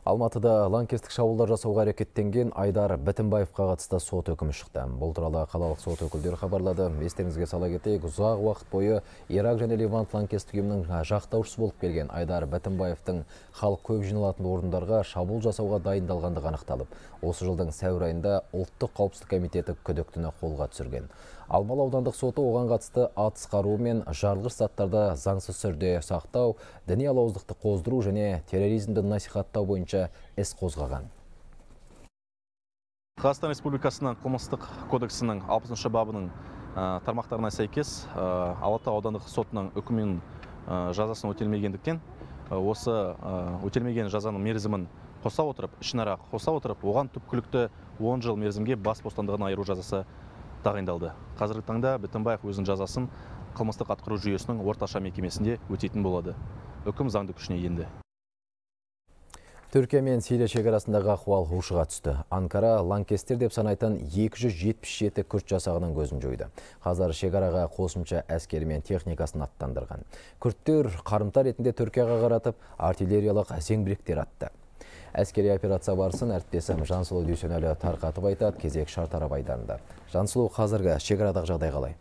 Алматыда лаңкестік шабуылдар жасауға әрекеттенген Айдар Бітімбаевқа қатысты сот үкімі шықты. Бұл туралы қалалық сот өкілдері хабарлады. Естеріңізге сала кетейік, ұзақ уақыт бойы Ирак және Левант лаңкестік ұйымының жақтаушысы болып келген Айдар Бітімбаевтың халық көп жиналатын орындарға шабуыл жасауға дайындалғандығы анықталып, осы жылдың сәуір айында Ұлттық қауіпсіздік комитеті күдіктіні қолға түсірген. Алмалы аудандық соты оған қатысты атыс қаруы мен жарылғыш заттарды заңсыз түрде сақтау, діни алауыздықты қоздыру және терроризмді насихаттау бойынша іс қозғаған. Қазақстан Республикасының қылмыстық кодексінің 60 бабының тармақтарына сәйкес Алатау аудандық сотының үкімінің жазасын өтелмегендіктен, осы өтелмеген жазаның мерзімін қоса отырып, ішінара қоса отырып, оған түпкілікті 10 жыл мерзімге бас бостандығынан айыру жазасы тағайындалды. Қазіргі таңда Бітімбаев өзінің жазасын қылмыстық атқару жүйесінің орташа мекемесінде өтейтін болады. Үкім заңды күшіне енді. Түркия мен Сирия шекарасындағы ахуал ушыға түсті. Анкара лаңкестер деп санайтын 277 күрд жасағының көзін жойды. Қазір шекараға қосымша әскері мен техникасын аттандырған. Күрдтер қарымта ретінде Түркияға қаратып артиллериялық зеңбіректер атты. Әскери операция барысын әріптесім Жансұлу Дүйсенәлі тарқатып айтады, кезек Шартарап айдарында. Жансұлу, қазіргі шекарадағы жағдай қалай?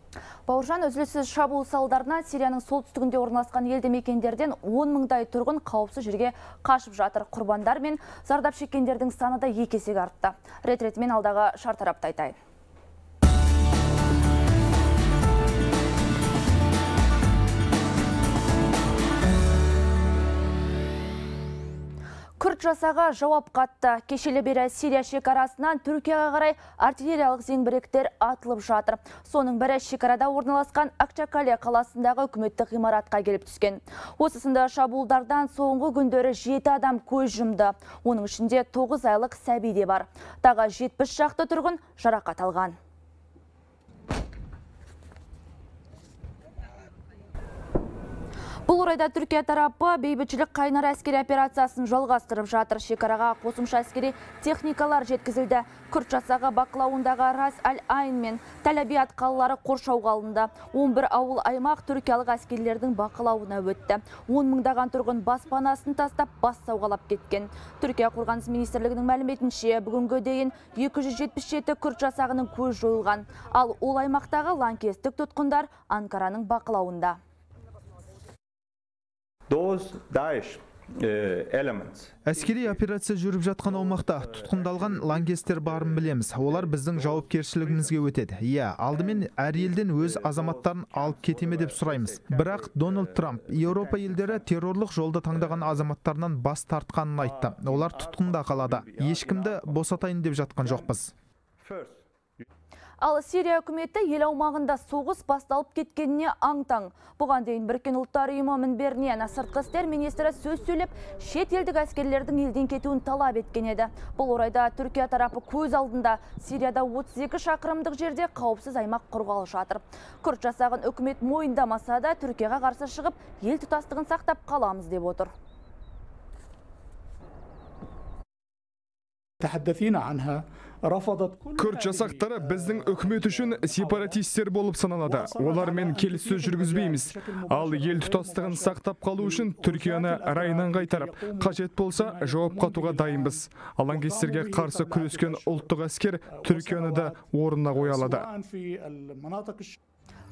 Бауыржан, үзіліссіз шабуыл салдарынан Сирияның солтүстігінде орналасқан елді мекендерден 10 мыңдай тұрғын қауіпсіз жерге қашып жатыр. Құрбандар мен зардап шеккендердің саны да 2 есеге артты. Рет-ретімен алдағы Шартарапты айтайын. Күрт жасаға жауап қатты. Кешелі бері Сирия шекарасынан Түркияға қарай артиллериялық зеңбіректер атылып жатыр. Соның бірі шекарада орналасқан Акчакале қаласындағы үкіметтік ғимаратқа келіп түскен. Осысында шабуылдардан соңғы күндері 7 адам көз жұмды. Оның ішінде 9 айлық сәби де бар. Тағы 70 шақты тұрғын жарақат алған. Бұл орайда Түркия тарапы бейбітшілік қайнар әскери операциясын жалғастырып жатыр. Шекараға қосымша әскери техникалар жеткізілді. Күрт жасағы бақылауындағы Рас Аль-Айн мен Тәл-Абиат қалалары қоршауға алынды. 11 ауыл аймақ түркиялық әскерлердің бақылауына өтті. 10 мыңдаған тұрғын баспанасын тастап бас сауғалап кеткен. Түркия қорғаныс министрлігінің мәліметінше бүгінгі дейін 277 күрт жасағының көз жойылған. Ал ол аймақтағы лаңкестік тұтқындар Анкараның бақылауында. Әскери операция жүріп жатқан аумақта тұтқындалған лаңкестер барын білеміз. Олар біздің жауапкершілігімізге өтеді. Алдымен әр елден өз азаматтарын алып кетеме деп сұраймыз. Бірақ Дональд Трамп Еуропа елдері террорлық жолды таңдаған азаматтарынан бас тартқанын айтты. Олар тұтқында қалады. Ешкімді босатайын деп жатқан жоқпыз. Ал Сирия үкіметі ел аумағында соғыс басталып кеткеніне аң-таң. Бұған дейін Біріккен ұлттар ұйымы мінберінен сыртқы істер министрі сөз сөйлеп, шет елдік әскерлердің елден кетуін талап еткен еді. Бұл орайда Түркия тарапы көз алдында Сирияда 32 шақырымдық жерде қауіпсіз аймақ құрғалы жатыр. Күрт жасағын үкімет мойындамаса да Түркияға қарсы шығып, ел тұтастығын сақтап қаламыз деп отыр. Күрт жасақтары біздің үкімет үшін сепаратистер болып саналады. Олармен келіссөз жүргізбейміз. Ал ел тұтастығын сақтап қалу үшін Түркияны райынан қайтарып, қажет болса жауап қатуға дайынбыз. Лаңкестерге қарсы күрескен ұлттық әскер Түркияны да орнына қоя алады.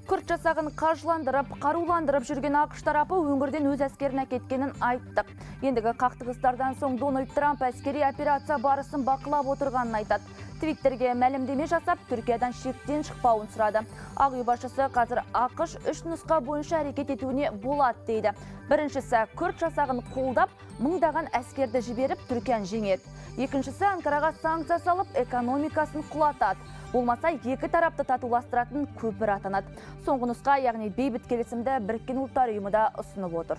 Күрт жасағын қаржыландырып, қаруландырып жүрген ақш тарапы өңірден өз әскерін әкеткенін айттық. Ендігі қақтығыстардан соң Дональд Трамп әскери операция барысын бақылап отырғанын айтады. Твиттерге мәлімдеме жасап, Түркиядан шектен шықпауын сұрады. Ақ үй басшысы қазір ақш 3 нұсқа бойынша әрекет етуіне болады дейді. Біріншісі, күрт жасағын қолдап, мыңдаған әскерді жіберіп, Түркияны жеңеді. Екіншісі, Анкараға санкция салып, экономикасын құлатады. Болмаса, екі тарапты татуластыратын көпір атанады. Соңғы нұсқа, яғни бейбіт келісімді Біріккен ұлттар ұйымы да ұсынып отыр.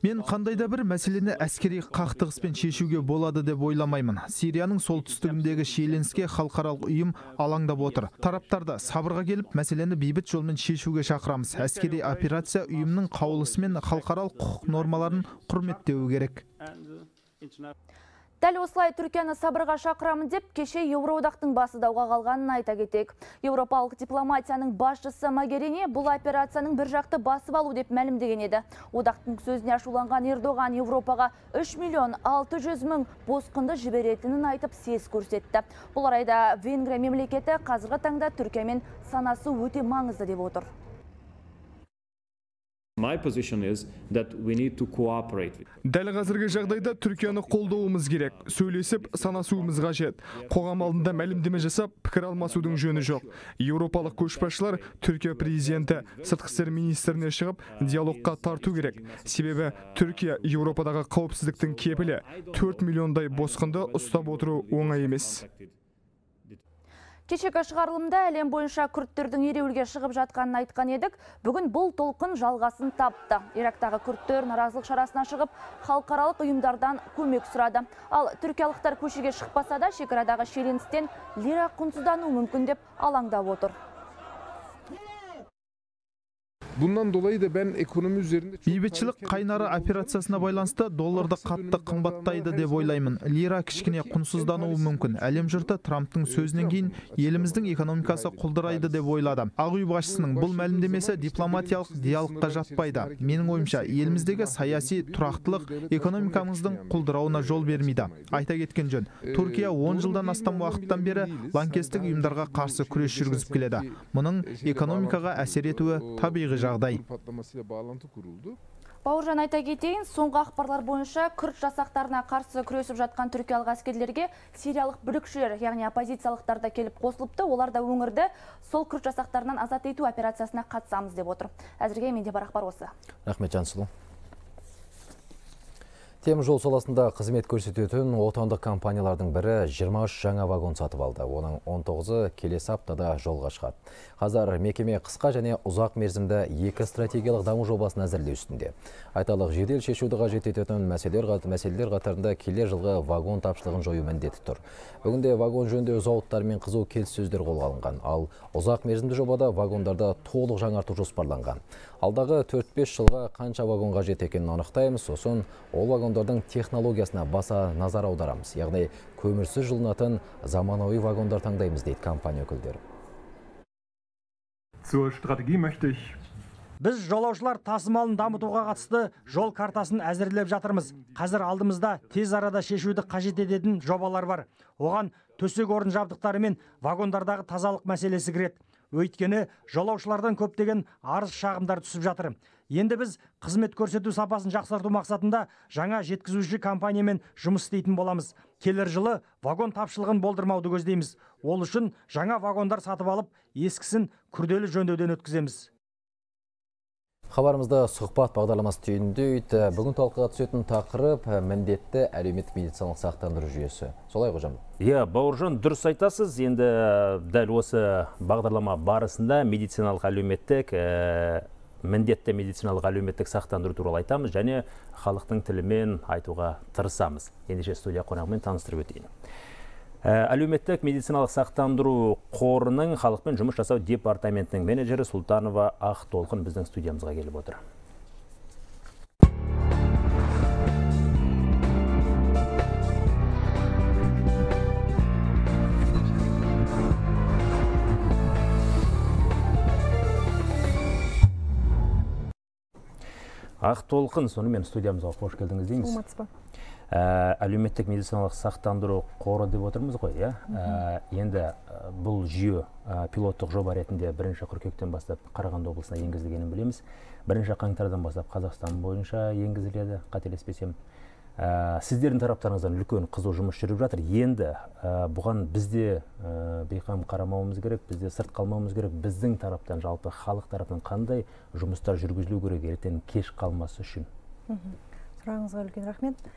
Мен қандай да бір мәселені әскери қақтығыспен шешуге болады деп ойламаймын. Сирияның солтүстігіндегі шиеленіске халықаралық ұйым алаңдап отыр. Тараптарды сабырға келіп, мәселені бейбіт жолмен шешуге шақырамыз. Әскери операция ұйымның қаулысы мен халықаралық құқық нормаларын құрметтеуі керек. Дәл осылай Түркияны сабырға шақырамын деп, кеше Еуроодақтың басы дауға қалғанын айта кетейік. Еуропалық дипломатияның басшысы Могерини бұл операцияның бір жақты басып алу деп мәлімдеген еді. Одақтың сөзіне ашуланған Ердоған Еуропаға 3.600.000 босқынды жіберетінін айтып сес көрсетті. Бұл орайда Венгрия мемлекеті қазіргі таңда Түркиямен санасы өте маңызды деп отыр. Дәл қазіргі жағдайда Түркияны қолдауымыз керек. Сөйлесіп, санасуымыз қажет. Қоғам алдында мәлімдеме жасап, пікір алмасудың жөні жоқ. Еуропалық көшбасшылар Түркия президенті, сыртқы істер министріне шығып, диалогқа тарту керек. Себебі Түркия Еуропадағы қауіпсіздіктің кепілі. 4 миллиондай босқынды ұстап отыру оңай емес. Кешегі шығарылымда әлем бойынша күрттердің ереуілге шығып жатқанын айтқан едік. Бүгін бұл толқын жалғасын тапты. Ирактағы күрттер наразылық шарасына шығып, халықаралық ұйымдардан көмек сұрады. Ал түркиялықтар көшеге шықпаса да, шекарадағы шиеленістен лира құнсыздану мүмкін деп алаңдап отыр. Bundan dolayı da ben ekonomi üzerinde бейбітшілік қайнары операциясына байланысты долларды қатты қымбаттайды деп ойлаймын. Лира кішкене құнсыздануы мүмкін. Әлем жұрты Трамптың сөзінен кейін еліміздің экономикасы құлдырайды деп ойлады. Ақ үй басшысының бұл мәлімдемесі дипломатиялық диалогқа жатпайды. Менің ойымша, еліміздегі саяси тұрақтылық экономикамыздың құлдырауына жол бермейді. Айта кеткен жөн, Түркия 10 жылдан астам уақыттан бері лаңкестік ұйымдарға қарсы күрес жүргізіп келеді. Мұның экономикаға әсер етуі табиғи жағдай. Бауыржан, айта кетейін, соңғы ақпарлар бойынша күрт жасақтарына қарсы күресіп жатқан түркиялық әскерлерге сириялық бүлікшілер, яғни оппозициялықтар да келіп қосылыпты. Олар да өңірді сол күрт жасақтарынан азат ету операциясына қатысамыз деп отыр. Әзірге менде бар ақпар осы. Рахмет, Жансұлу. Темір жол саласында қызмет көрсететін отандық компаниялардың бірі 23 жаңа вагон сатып алды. Оның 19-ы келесі аптада жолға шығады. Қазір мекеме қысқа және ұзақ мерзімді екі стратегиялық даму жобасын әзірлеу үстінде. Айталық, жедел шешуді қажет ететін мәселелер қатарында келер жылғы вагон тапшылығын жою міндеті тұр. Бүгінде вагон жөндеу зауыттарымен қызу келіссөздер қолға алынған, ал ұзақ мерзімді жобада вагондарды толық жаңарту жоспарланған. Алдағы 4-5 жылға қанша вагон қажет екенін анықтаймыз, сосын ол вагондардың технологиясына баса назар аударамыз. Яғни көмірсіз жылынатын заманауи вагондар таңдаймыз, дейді компания өкілдері. Біз жолаушылар тасымалын дамытуға қатысты жол картасын әзірлеп жатырмыз. Қазір алдымызда тез арада шешуді қажет ететін жобалар бар. Оған төсек орын жабдықтары мен вагондардағы тазалық мәселесі кіреді. Өйткені жолаушылардан көптеген арыз шағымдар түсіп жатыр. Енді біз қызмет көрсету сапасын жақсарту мақсатында жаңа жеткізуші компаниямен жұмыс істейтін боламыз. Келер жылы вагон тапшылығын болдырмауды көздейміз. Ол үшін жаңа вагондар сатып алып, ескісін күрделі жөндеуден өткіземіз. Хабарымызда сұхбат бағдарламасы түйіндейді. Бүгін талқыға түсетін тақырып міндетті әлеуметтік медициналық сақтандыру жүйесі. Солай қожам? Бауыржан, дұрыс айтасыз. Енді дәл осы бағдарлама барысында медициналық әлеуметтік міндетті медициналық әлеуметтік сақтандыру туралы айтамыз және халықтың тілімен айтуға тырысамыз. Ендеше студия қонағымен таныстырып өтейін. Әлеуметтік медициналық сақтандыру қорының халықпен жұмыс жасау департаментінің менеджері Султанова Ақтолқын біздің студиямызға келіп отыр. Ақтолқын, сонымен студиямызға қош келдіңіз дейміз. Әлеуметтік медициналық сақтандыру қоры деп отырмыз ғой, енді бұл жүйе пилоттық жоба ретінде 1 қыркүйектен бастап Қарағанды облысына енгізілгенін білеміз. 1 қаңтардан бастап Қазақстан бойынша енгізіледі, қателеспесем. Сіздердің тараптарыңыздан үлкен қызу жұмыс жүріп жатыр. Енді бұған бізде бейқам қарамауымыз керек, бізде сырт қалмауымыз керек. Біздің тараптан, жалпы халық тараптан қандай жұмыстар жүргізілу керек, ертең кеш қалмасы үшін? Сұрағыңызға үлкен рахмет.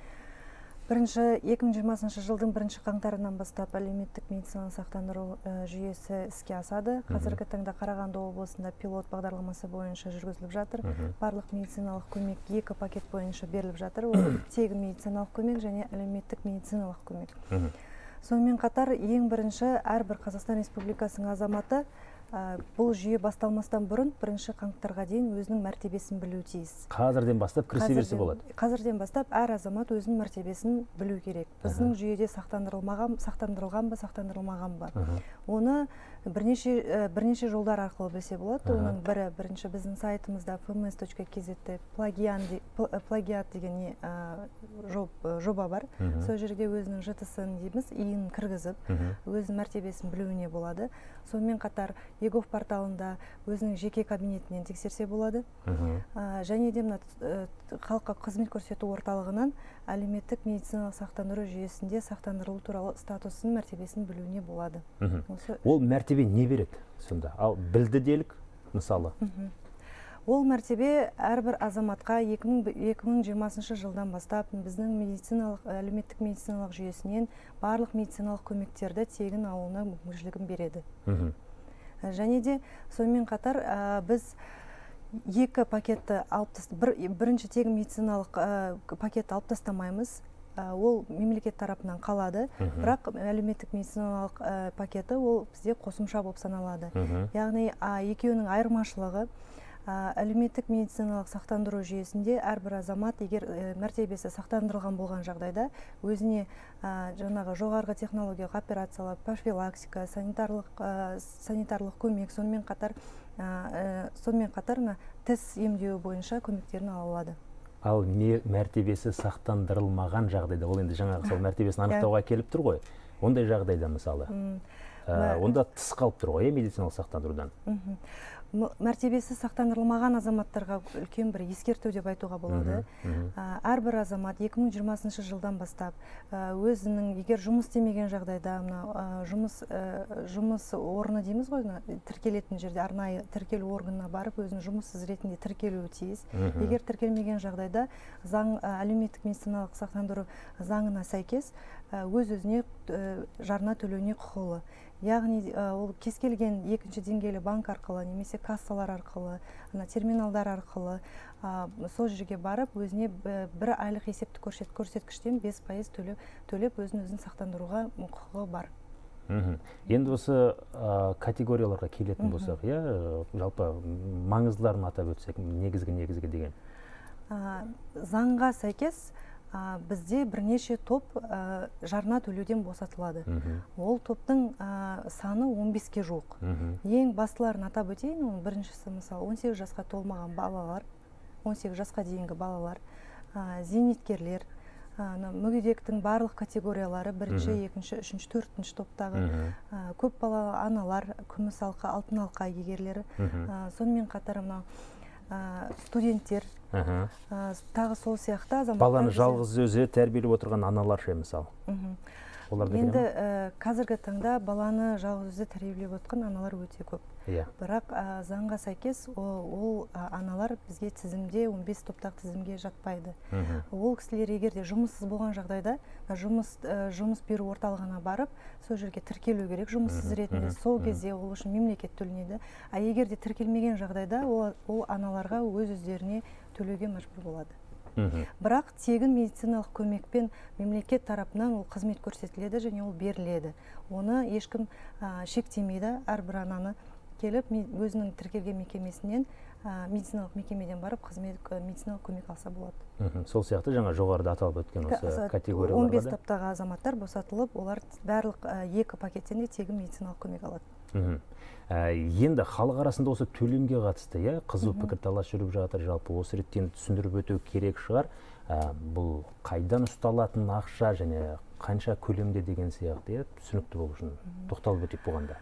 2020 жылдың 1 қаңтарынан бастап әлеуметтік медициналық сақтандыру жүйесі іске асады. Қазіргі таңда Қарағанды облысында пилот бағдарламасы бойынша жүргізіліп жатыр. Барлық медициналық көмек 2 пакет бойынша беріліп жатыр. Ол тегін медициналық көмек және әлеуметтік медициналық көмек. Сонымен қатар ең бірінші әрбір Қазақстан Республикасының азаматы бұл жүйе басталмастан бұрын 1 қаңтарға дейін өзінің мәртебесін білу тиіс. Қазірден бастап кірісе берсе болады. Қазірден бастап әр азамат өзінің мәртебесін білу керек. Біздің жүйеде сақтандырылған ба, сақтандырылмаған ба. Оны бірнеше жолдар арқылы білсе болады. Оның бірінші біздің сайтымызда fms.kz плагиат деген жоба бар. Сол жерде өзінің ЖТС-ін дейміз, иін кіргізіп, өзінің мәртебесін білуіне болады. Сонымен қатар егов порталында өзінің жеке кабинетінен тексерсе болады. Және де халыққа қызмет көрсету орталығынан әлеуметтік медициналық сақтандыру жүйесінде сақтандырылу туралы статусын, мәртебесін білуіне болады. Ол мәртебе не береді сонда? Ал білді делік, мысалы? Ол мәртебе әрбір азаматқа 2020 жылдан бастап біздің әлеуметтік медициналық жүйесінен барлық медициналық көмектерді тегін алуына мүмкіншілігін береді. Және де сонымен қатар біз 2 пакетті бірінші тегін медициналық пакетті алып тастамаймыз. Ол мемлекет тарапынан қалады, бірақ әлеуметтік медициналық пакеті ол бізде қосымша болып саналады. Яғни екеуінің айырмашылығы әлеуметтік медициналық сақтандыру жүйесінде әрбір азамат егер мәртебесі сақтандырылған болған жағдайда өзіне жаңағы жоғарғы технологиялық операциялар, профилактика, санитарлық көмек, сонымен қатар тіс емдеу бойынша көмектерін ала алады. Ал мәртебесі сақтандырылмаған жағдайда, ол енді жаңағы сол мәртебесін анықтауға келіп тұр ғой, ондай жағдайда мысалы, онда тыс қалып тұр ғой медициналық сақтандырудан. мәртебесі сақтандырылмаған азаматтарға үлкен бір ескерту деп айтуға болады. Әрбір азамат 2020 жылдан бастап өзінің егер жұмыс істемеген жағдайда жұмыс орны дейміз ғой, тіркелетін жерде арнайы тіркелу органына барып өзінің жұмыссыз ретінде тіркелуі тиіс. Егер тіркелмеген жағдайда әлеуметтік медициналық сақтандыру заңына сәйкес өз-өзіне жарна төлеуіне құқылы. Яғни ол кез келген екінші деңгейлі банк арқылы немесе кассалар арқылы, терминалдар арқылы сол жерге барып өзіне бір айлық есептік көрсеткіштен 5% төлеп өзін сақтандыруға құқығы бар. Енді осы категорияларға келетін болсақ, жалпы маңыздыларын атап өтсек, негізгі деген. Заңға сәйкес бізде бірнеше топ жарна төлеуден босатылады. Ол топтың саны 15-ке жуық. Ең бастыларын атап өтейін, оның біріншісі мысалы 18 жасқа толмаған балалар, 18 жасқа дейінгі балалар, зейнеткерлер, мүгедектің барлық категориялары бірінші, екінші, үшінші, төртінші топтағы көп балалы аналар, күміс алқа, алтын алқа егерлері, сонымен қатар студенттер, тағы сол сияқты азаматтар. Баланы жалғыз өзі тәрбиелеп отырған аналар ше мысалы. Енді қазіргі таңда баланы жалғыз өзі тәрбиелеп отырған аналар өте көп. Бірақ заңға сәйкес ол аналар бізге тізімде 15 топтағы тізімге жатпайды. Ол кісілер егерде жұмыссыз болған жағдайда жұмыс беру орталығына барып, сол жерге тіркелу керек жұмыссыз ретінде. Сол кезде ол үшін мемлекет төленеді. Егерде тіркелмеген жағдайда ол аналарға өз-өздеріне төлеуге мәжбүр болады. Бірақ тегін медициналық көмекпен мемлекет тарапынан ол қызмет көрсетіледі және ол беріледі. Оны ешкім шектемейді. Әрбір ананы келіп өзінің тіркелген мекемесінен медициналық мекемеден барып медициналық көмек алса болады. Сол сияқты жаңа жоғарыда аталып өткен осы категорияларға 15 топтағы азаматтар босатылып, олар барлық 2 пакеттен де тегін медициналық көмек алады. Енді халық арасында осы төлемге қатысты қызу пікірталас жүріп жатыр. Жалпы осы реттен түсіндіріп өту керек шығар. Бұл қайдан ұсталатын ақша және қанша көлемде деген сияқты түсінікті болу үшін тоқталып өтіп болғанда.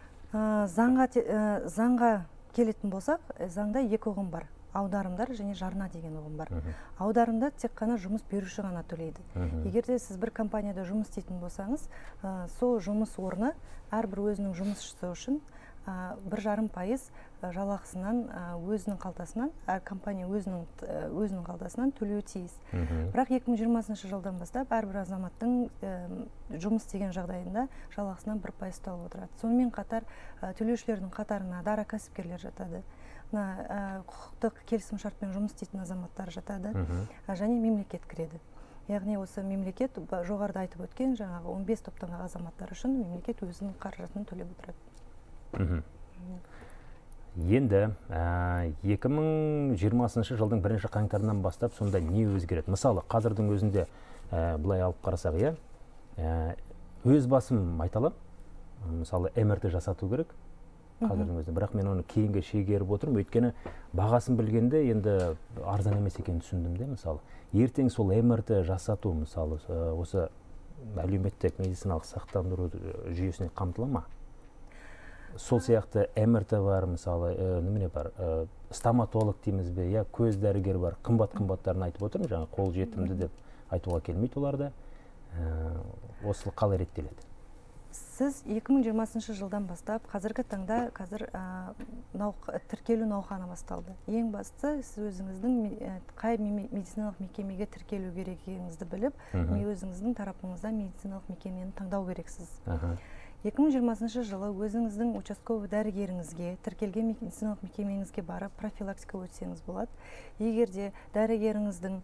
Заңға келетін болсақ, заңда 2 ұғым бар. Аударымдар және жарна деген ұғым бар. Аударымда тек қана жұмыс беруші ғана төлейді. Егерде сіз бір компанияда жұмыс істейтін болсаңыз, сол жұмыс орны әрбір өзінің жұмысшысы үшін 1,5% жалақысынан өзінің қалтасынан, компания өзінің қалтасынан төлеуі тиіс. Бірақ 2020 жылдан бастап әрбір азаматтың жұмыс істеген жағдайында жалақысынан 1% ұсталып отырады. Сонымен қатар төлеушілердің қатарына дара кәсіпкерлер жатады. Құқықтық келісімшартпен жұмыс істейтін азаматтар жатады, және мемлекет кіреді. Яғни осы мемлекет жоғарыда айтып өткен жаңағы 15 топтағы азаматтар үшін мемлекет өзінің қаржысын төлеп отырады. Енді 2020 жылдың 1 қаңтарынан бастап сонда не өзгереді? Мысалы, қазірдің өзінде бұлай алып қарасақ, өз басым айталам, мысалы МРТ жасату керек қазірдің өзінде, бірақ мен оны кейінге шегеріп отырмын, өйткені бағасын білгенде енді арзан емес екенін түсіндім де, мысалы. Ертең сол МРТ жасату, мысалы, осы әлеуметтік медициналық сақтандыру жүйесіне қамтыла ма? Сол сияқты МРТ бар, мысалы, немене бар, стоматолог дейміз бе, көз дәрігер бар, қымбаттарын айтып отырмын, жаңа қол жетімді деп айтуға келмейді оларды. Осы қалай реттеледі? Сіз 2020 жылдан бастап, қазіргі таңда тіркелу науқаны басталды. Ең бастысы, сіз өзіңіздің қай медициналық мекемеге тіркелу керегіңізді біліп, өзіңіздің тарапыңызда медициналық мекемені таңдау керексіз. 2020 жылы өзіңіздің участковый дәрігеріңізге, тіркелген медициналық мекемеңізге барып профилактика өтсеңіз болады. Егерде дәрігеріңіздің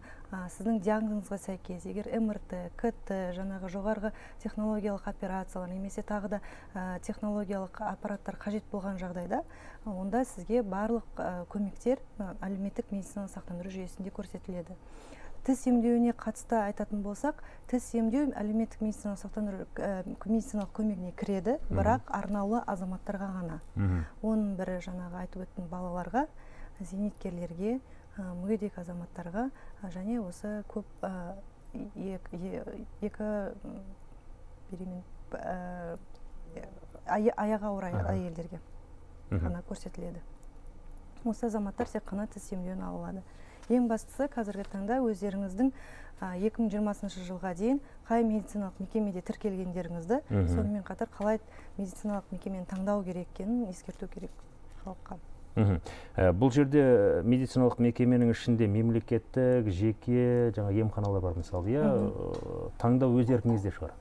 сіздің диагнозыңызға сәйкес, егер МРТ, КТ, жаңағы жоғарғы технологиялық операциялар, немесе тағы да технологиялық аппараттар қажет болған жағдайда, онда сізге барлық көмектер әлеуметтік медициналық сақтандыру жүйесінде көрсетіледі. Тіс емдеуіне қатысты айтатын болсақ, тіс емдеу әлеуметтік медициналық сақтандыру медициналық көмегіне кіреді, бірақ арнаулы азаматтарға ғана. Оның бірі жаңағы айтып өткен балаларға, зейнеткерлерге, мүгедек азаматтарға және осы көп аяғы ауыр әйелдерге ғана көрсетіледі. осы азаматтар тек қана тіс емдеуін ала алады. Ең бастысы қазіргі таңда өздеріңіздің 2020 жылға дейін қай медициналық мекемеде тіркелгендеріңізді, сонымен қатар қалай медициналық мекемені таңдау керек екенін ескерту керек халыққа. Бұл жерде медициналық мекеменің ішінде мемлекеттік, жеке, жаңа емханалар бар мысалы, таңдау өз еркіңізде шығар?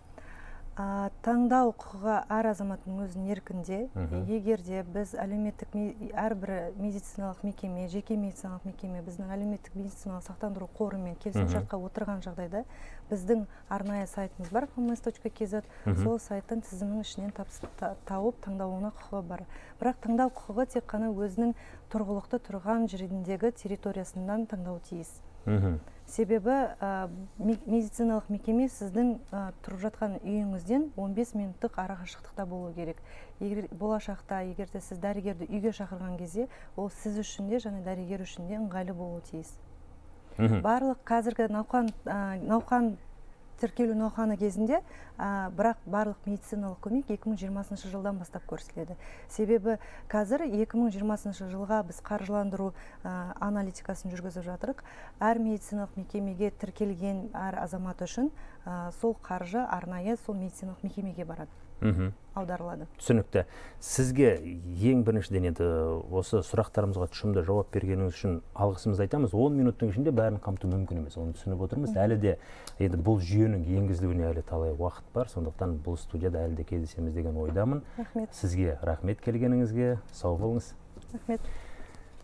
Таңдау құқығы әр азаматтың өзінің еркінде. Егерде біз әлеуметтік әрбір медициналық мекеме, жеке медициналық мекеме біздің әлеуметтік медициналық сақтандыру қорымен келісімшартқа отырған жағдайда біздің арнайы сайтымыз бар, pms.kz, сол сайттың тізімінің ішінен тауып таңдауына құқығы бар. Бірақ таңдау құқығы тек қана өзінің тұрғылықты тұрған жеріндегі территориясынан таңдау тиіс. Себебі медициналық мекеме сіздің тұрып жатқан үйіңізден 15 минуттық арақашықтықта болу керек. Болашақта, егерде сіз дәрігерді үйге шақырған кезде, ол сіз үшін де және дәрігер үшін де ыңғайлы болуы тиіс. Барлық қазіргі науқан тіркелу науқаны кезінде, бірақ барлық медициналық көмек 2020 жылдан бастап көрсетіледі. Себебі қазір 2020 жылға біз қаржыландыру аналитикасын жүргізіп жатырық. Әр медициналық мекемеге тіркелген әр азамат үшін сол қаржы арнайы сол медициналық мекемеге барады. Аударылады. Түсінікті. Сізге ең біріншіден енді осы сұрақтарымызға тұшымды жауап бергеніңіз үшін алғысымызды айтамыз. 10 минуттың ішінде бәрін қамту мүмкін емес. Оны түсініп отырмыз. Әлі де енді бұл жүйенің енгізілуіне әлі талай уақыт бар. Сондықтан бұл студияда әлі де кездесеміз деген ойдамын. Сізге рахмет келгеніңізге. Сау болыңыз. Рахмет.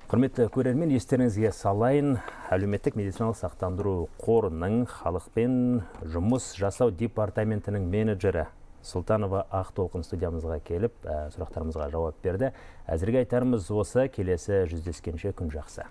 Құрметті көрермен, естеріңізге салайын, әлеуметтік медициналық сақтандыру қорының халықпен жұмыс жасау департаментінің менеджері Сұлтанова Ақтолқын студиямызға келіп, сұрақтарымызға жауап берді. Әзірге айтарымыз осы, келесі жүздескенше күн жақсы.